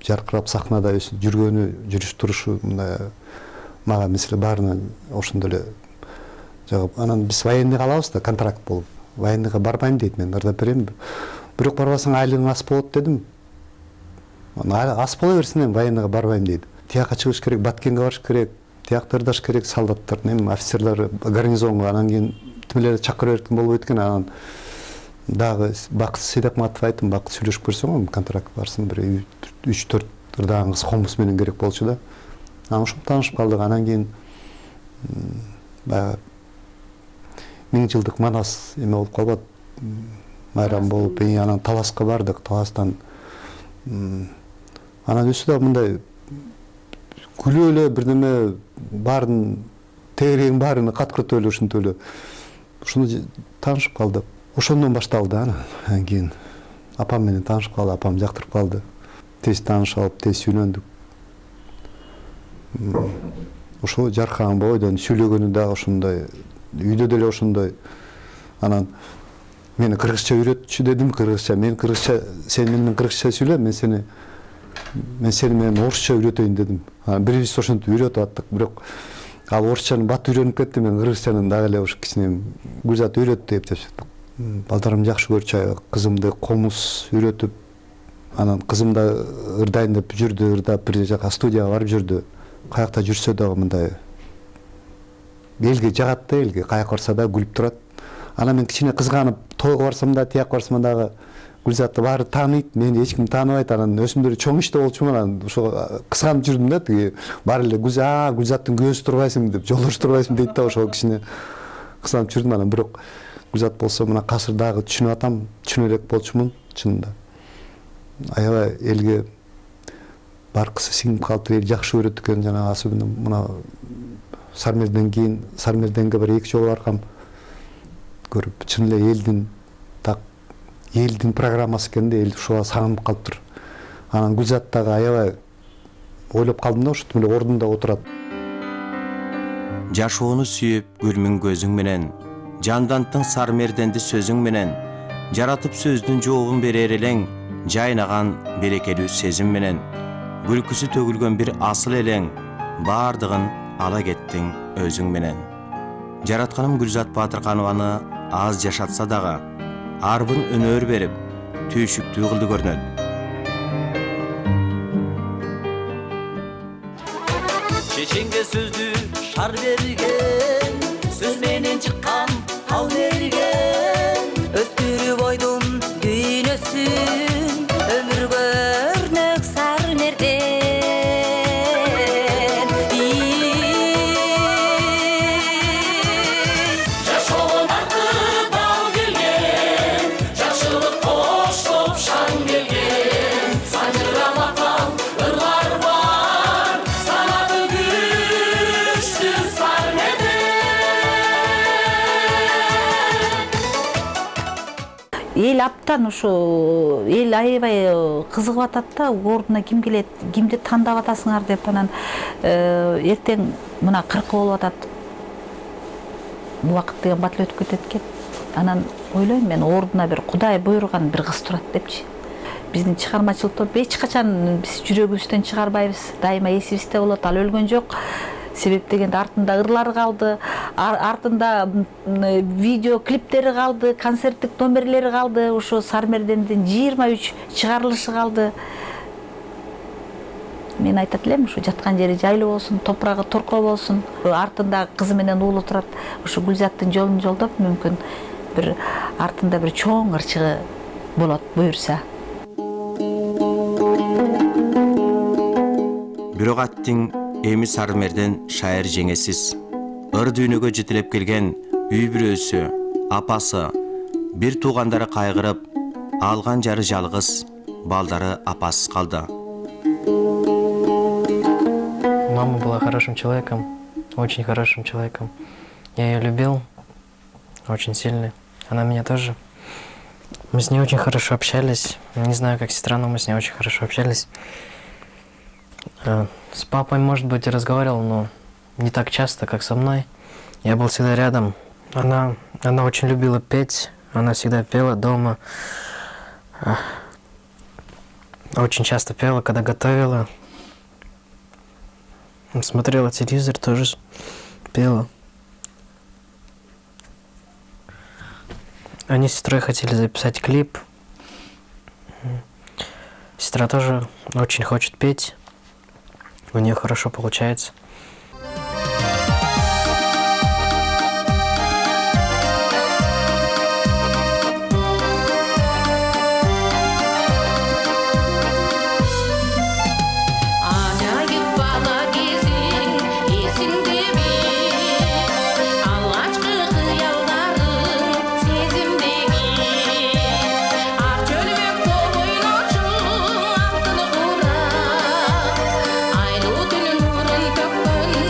жаркырап сахнада жүргөнү, жүрүш турушу мындай мага мисалы баарынан ошондой эле жагып. Анан биз военныйга алабыз да, контракт болуп. Военныйга барбайм дейт, мен ырдап берем. Бирок барбасаң айлыгың аз болот дедим. Ас бола берсин, эми военныйга барбайм дейт. Тияка чыгыш керек, Баткенге барыш керек, тиякта ырдаш керек, солдаттар, эми офицерлер гарнизонго, анан кийин тимелер чакыра берген болуп өткөн. Анан дагы Бакыт Сейдакматов айттым, Бакыт сүйлөшүп көрсөң, контракт барсын, бир үч төрт ырдаган кыз комуз менен керек болчу да. Анан ошо таанышып калдык. Анан кийин баягы миң жылдык Манас эме болуп калбат, майрам болуп, анан Таласка бардык, Таластан анан өзү да мындай күлүп эле бирдеме баарын тегерегин баарын каткыртып эле ушинтип эле ушуну таанышып калдык. Ошондон башталды. Анан кийин апам менен таанышып калды, апам жактырып калды. Тез таанышып алып, тез сүйлөндүк. Ошо жаркаган бойдон сүйлөгөнү дагы ошондой, үйдө деле ошондой. Анан мени кыргызча үйрөтчү дедим, кыргызча. Мен кыргызча, сен менен кыргызча сүйлө, мен сени мен сени менен орусча үйрөтөйүн дедим. Анан бирибиз ошентип үйрөтүп аттык, бирок ал орусчанын бат үйрөнүп кетти, мен кыргызчанын дагы эле ошо кичине Гүлзат үйрөттү деп жашаттык. Балдарым жакшы көрчү, кызымды комуз үйрөтүп, анан кызым да ырдайын деп жүрдү, ырдап бир жака студияга барып жүрдү. Каякта жүрсө дагы мындай элге жагат да, элге каяка барса да күлүп турат. Анан мен кичине кызганып, тойго барсам да, тияк барсам дагы Гүлзатты баары тааныйт, мени эч ким тааныбайт. Анан өсүмдөр чоң иште болчумун, анан ошо кызганып жүрдүм да, тиги баары эле Гүлзат, Гүлзаттын көзү турбайсың деп, жолдош турбайсың дейт да, ошо кичине кызганып жүрдүм. Анан бирок Гүлзат болсо мына азыр дагы түшүнүп атам, түшүнө элек болчумун чынында. Аябай элге баркысы сиңип калыптыр, эл жакшы көрөт экен, жана особенно мына Сармерден кийин, Сармерденге бир эки жолу баргам, көрүп чын эле элдин так элдин программасы экен да, эл ушуга сагынып калыптыр. Анан Гүлзат дагы аябай ойлоп калдым да, ошентип эле ордунда отурат. Жашоону сүйүп гүлмүң көзүң менен, жандантың Сармерденди сөзүң менен, жаратып сөздүн жообун берер элең, жайнаган берекелүү сезим менен, күлкүсү төгүлгөн бир асыл элең, баардыгын ала кеттиң өзүң менен. Жаратканым Гүлзат Батырканованы аз жашатса дагы, арбын өнөр берип, түйшүктүү кылды көрүнөт. Чеченге сөздү шар берген, сөз менен чыккан ал берген, өстүрүп ойдун дүйнөсүн, өмүр көрнөк Сармерден. Жашоонун артында келген, жакшылык коштоп шаң келген, сажыраматан ырлар бар, санаты күчтүү Сармерден. Эл аптан ушу эл аябай кызыгып атат да, ордуна ким келет, кимди тандап атасыңар деп. Анан эртең мына кыркы болуп атат, убакыт деген бат эле өтүп кетет экен. Анан ойлойм мен, ордуна бир Кудай буйруган бир кыз турат депчи. Биздин чыгармачылыкта эч качан биз жүрөгүбүздөн чыгарбайбыз, дайыма эсибизде болот. Ал өлгөн жок. Себеп дегенде артында ырлар калды, артында видео клиптери калды, концерттик номерлери калды, ошо Сармердендин жыйырма үч чыгарылышы калды. Мен айтат элем, ушу жаткан жери жайлуу болсун, топурагы торко болсун. Артында кызы менен уулу турат. Ушу Гүлзаттын жолун жолдоп, мүмкүн бир артында бир чоң ырчыгы болот, буюрса. Бирок аттың эми Сармерден шайыр жеңесиз. Ыр дүйнөгө жетелеп келген үй бүрөөсү, апасы, бир туугандары кайгырып, алган жары жалгыз, балдары апасыз калды. Мама была хорошим человеком, очень хорошим человеком. Я ее любил очень сильно. Она меня тоже. Мы с ней очень хорошо общались. Не знаю, как сестра, но мы с ней очень хорошо общались. С папой, может быть, и разговаривал, но не так часто, как со мной. Я был всегда рядом. Она, она очень любила петь. Она всегда пела дома. Очень часто пела, когда готовила. Смотрела телевизор, тоже пела. Они с сестрой хотели записать клип. Сестра тоже очень хочет петь. У нее хорошо получается. Айлуу түнүн нурун төккөн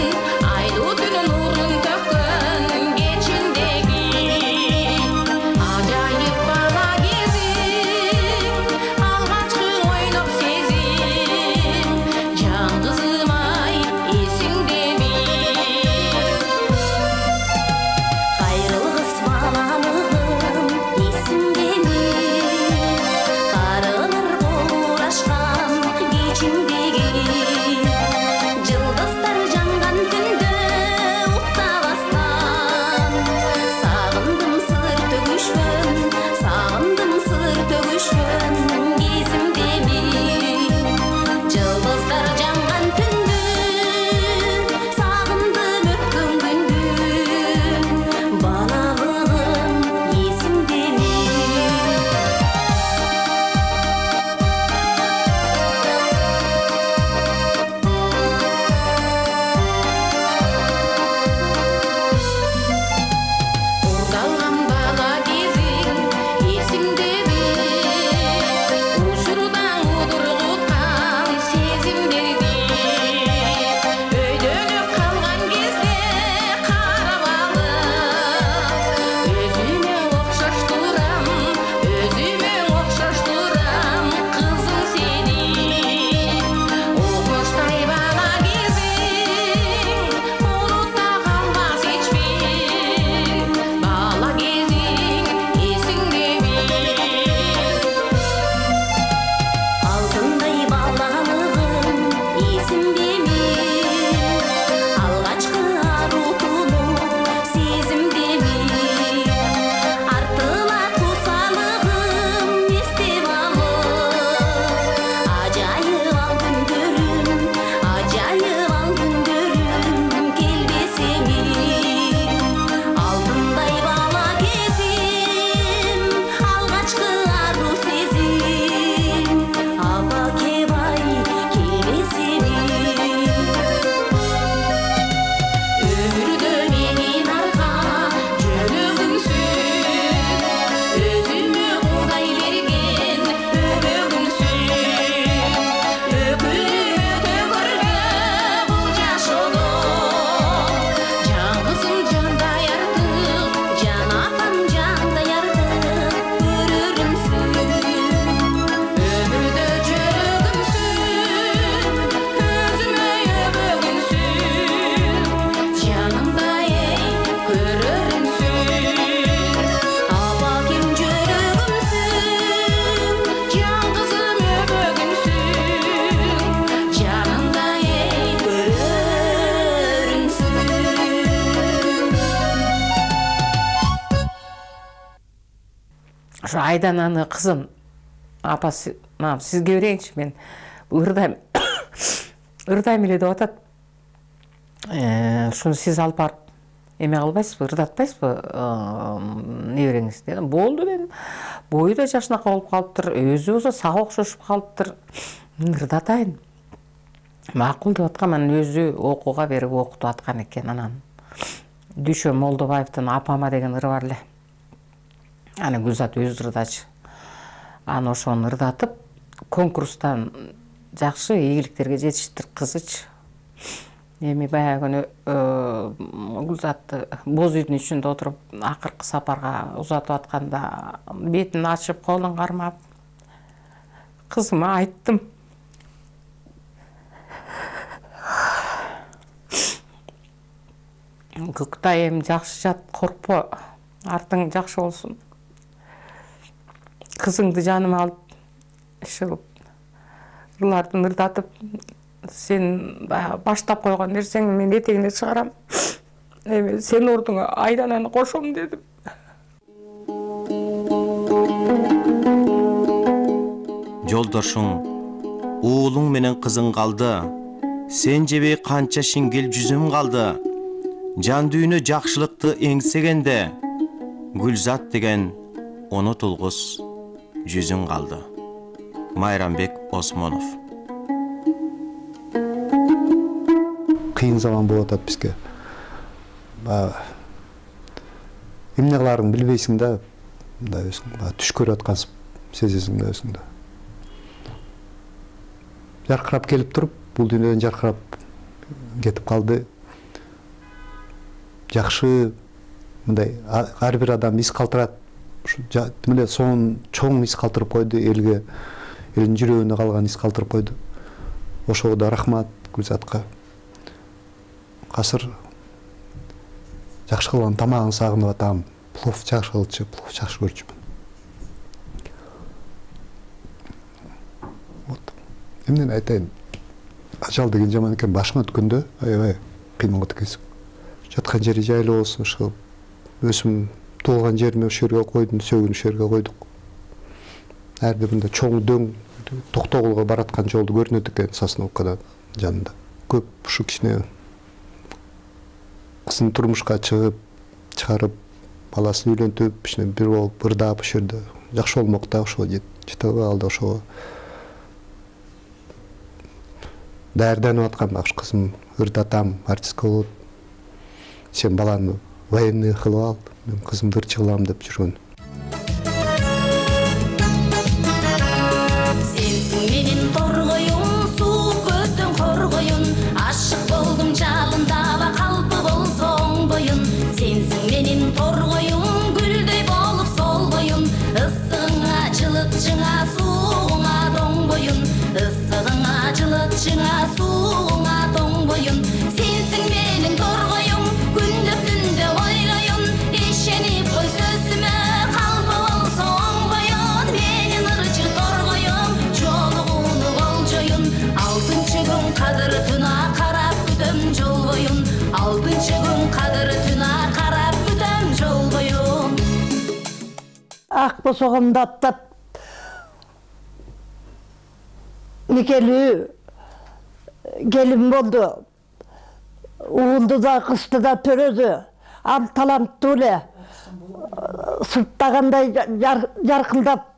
ошо Айдананы кызын апа сизге берейинчи, мен ырдайм ырдайм эле деп атат. Ушуну сиз алып барып эме кылбайсызбы, ырдатпайсызбы небереңиз дедим. Болду дедим. Бою да жашынака болуп калыптыр, өзү болсо сага окшошуп калыптыр. Ырдатайын. Макул деп аткан, анан өзү окууга берип окутуп аткан экен. Анан Дүйшө Молдобаевдин Апама деген ыры бар эле. Аны Гүлзат өзү ырдачы. Аны ошону ырдатып, конкурстан жакшы ийгиликтерге жетиштир кызычы. Эми баягы күнү Гүлзатты боз үйдүн ичинде отуруп, акыркы сапарга узатып атканда бетин ачып, колун кармап, кызыма айттым. Көктайым жакшы жат, коркпо, артың жакшы болсун. Кызыңды жаныма алып, иши ырлардын ырдатып, сен баштап койгон нерсеңди мен этегине чыгарам. Эми сен ордуңа Айдананы кошом дедим. Жолдошуң, уулуң менен кызың калды. Сен жебей канча шингел жүзүм калды. Жан дүйнө жакшылыкты эңсегенде, Гүлзат деген унутулгус жүзүң калды. Майрамбек Осмонов. Кыйын заман болуп атат бизге. Эмне кыларыңды билбейсиң да, мындай өзүң түш көрүп аткансып сезесиң да өзүңдү. Жаркырап келип туруп, бул дүйнөдөн жаркырап кетип калды. Жакшы мындай ар бир адам из калтырат. Ушу эле сонун чоң из калтырып койду элге, элдин жүрөгүнө калган из калтырып койду. Ошого да рахмат Гүлзатка. Азыр жакшы кылган тамагын сагынып атам. Плов жакшы кылчу, плов жакшы көрчүмүн. Вот. Эмнени айтайын? Ажал деген жаман экен, башыңа өткөндө аябай кыйын болот экенсиң. Жаткан жери жайлуу болсун, ошо өзүм туулган жериме ошол жерге койдум, сөгүн ошол жерге койдук. Ар бир мындай чоң дөң Токтогулга бараткан жолду көрүнөт экен Сосновкадан жанында. Көп ушу кичине кызын турмушка чыгып, чыгарып, баласын үйлөнтүп, кичине бир болуп ырдап ошол жерде жакшы болмок да, ошого жете калды, ошого даярданып аткам, аш кызым ырдатам, артистка болот. Сен баланы военный кылып ал, мен кызымды ырчы кылам деп жүргөн. Сенсиң менин торгоюм, суук көздөн коргоюн, ашык болдум жабындаба калпы болсоң боюн. Сенсиң менин торгоюм, гүлдөй болуп солгоюн, ысыгыңа жылытчыңа сууңа тоңбоюн, ысыгыңа жылытчыңа сууңа тоңбоюн. Сенсиң менин торгоюм, күндү түндө ойлоюн, ишенип кой сөзүмө, калпы болсоң боюн. Менин ырчы торгоюм, жолугууну болжоюн, алтынчы күн кадыртына карап күтөм жол боюн, алтынчы күн кадыртына карап күтөм жол боюн. Ак босогомду аттап никелүү келин болду. Уулду да кызды да төрөдү. Ал таланттуу эле. Сырттагандай жаркылдап,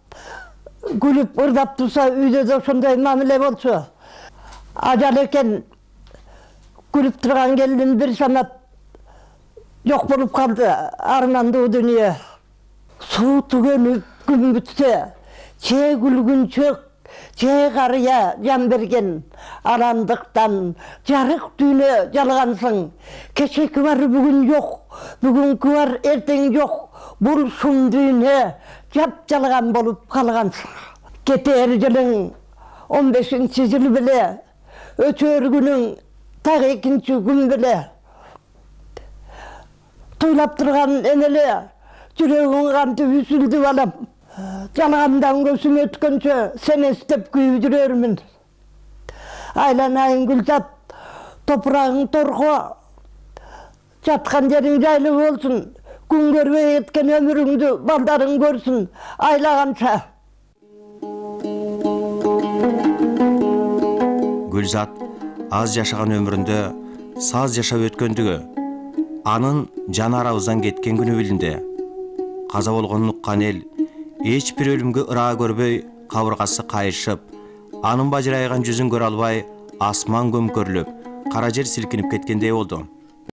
күлүп, ырдап турса, үйдө да ошондой мамиле болчу. Ажал экен, күлүп турган келин бир санап жок болуп калды, армандуу дүнүйө. Суу түгөнүп күн бүтсө, че күлгүнчөк, че карыя жан берген, арандыктан жарык дүйнө жалгансың. Кечеки бар бүгүн жок, бүгүнкү бар эртең жок, бул шум дүйнө жап жалган болуп калгансың. Кетер жылың он бешинчи жыл беле, өтөр күнүң так экинчи күн беле. Туйлап турган энеле, жүрөгүң кантип үзүлдү балам. Жалгандан көзүм өткөнчө сени эстеп күйүп жүрөрмүн. Айланайын Гүлзат, топурагың торго, жаткан жериң жайлуу болсун, күн көрбөй кеткен өмүрүңдү балдарың көрсүн айлаганча. Гүлзат аз жашаган өмүрүндө саз жашап өткөндүгү, анын жан арабыздан кеткен күнү билинди. Каза болгонун уккан эл эч бир өлүмгө ыраа көрбөй, кабыргасы кайышып, анын бажырайган жүзүн көрө албай, асман көмкөрүлүп, кара жер силкинип кеткендей болду.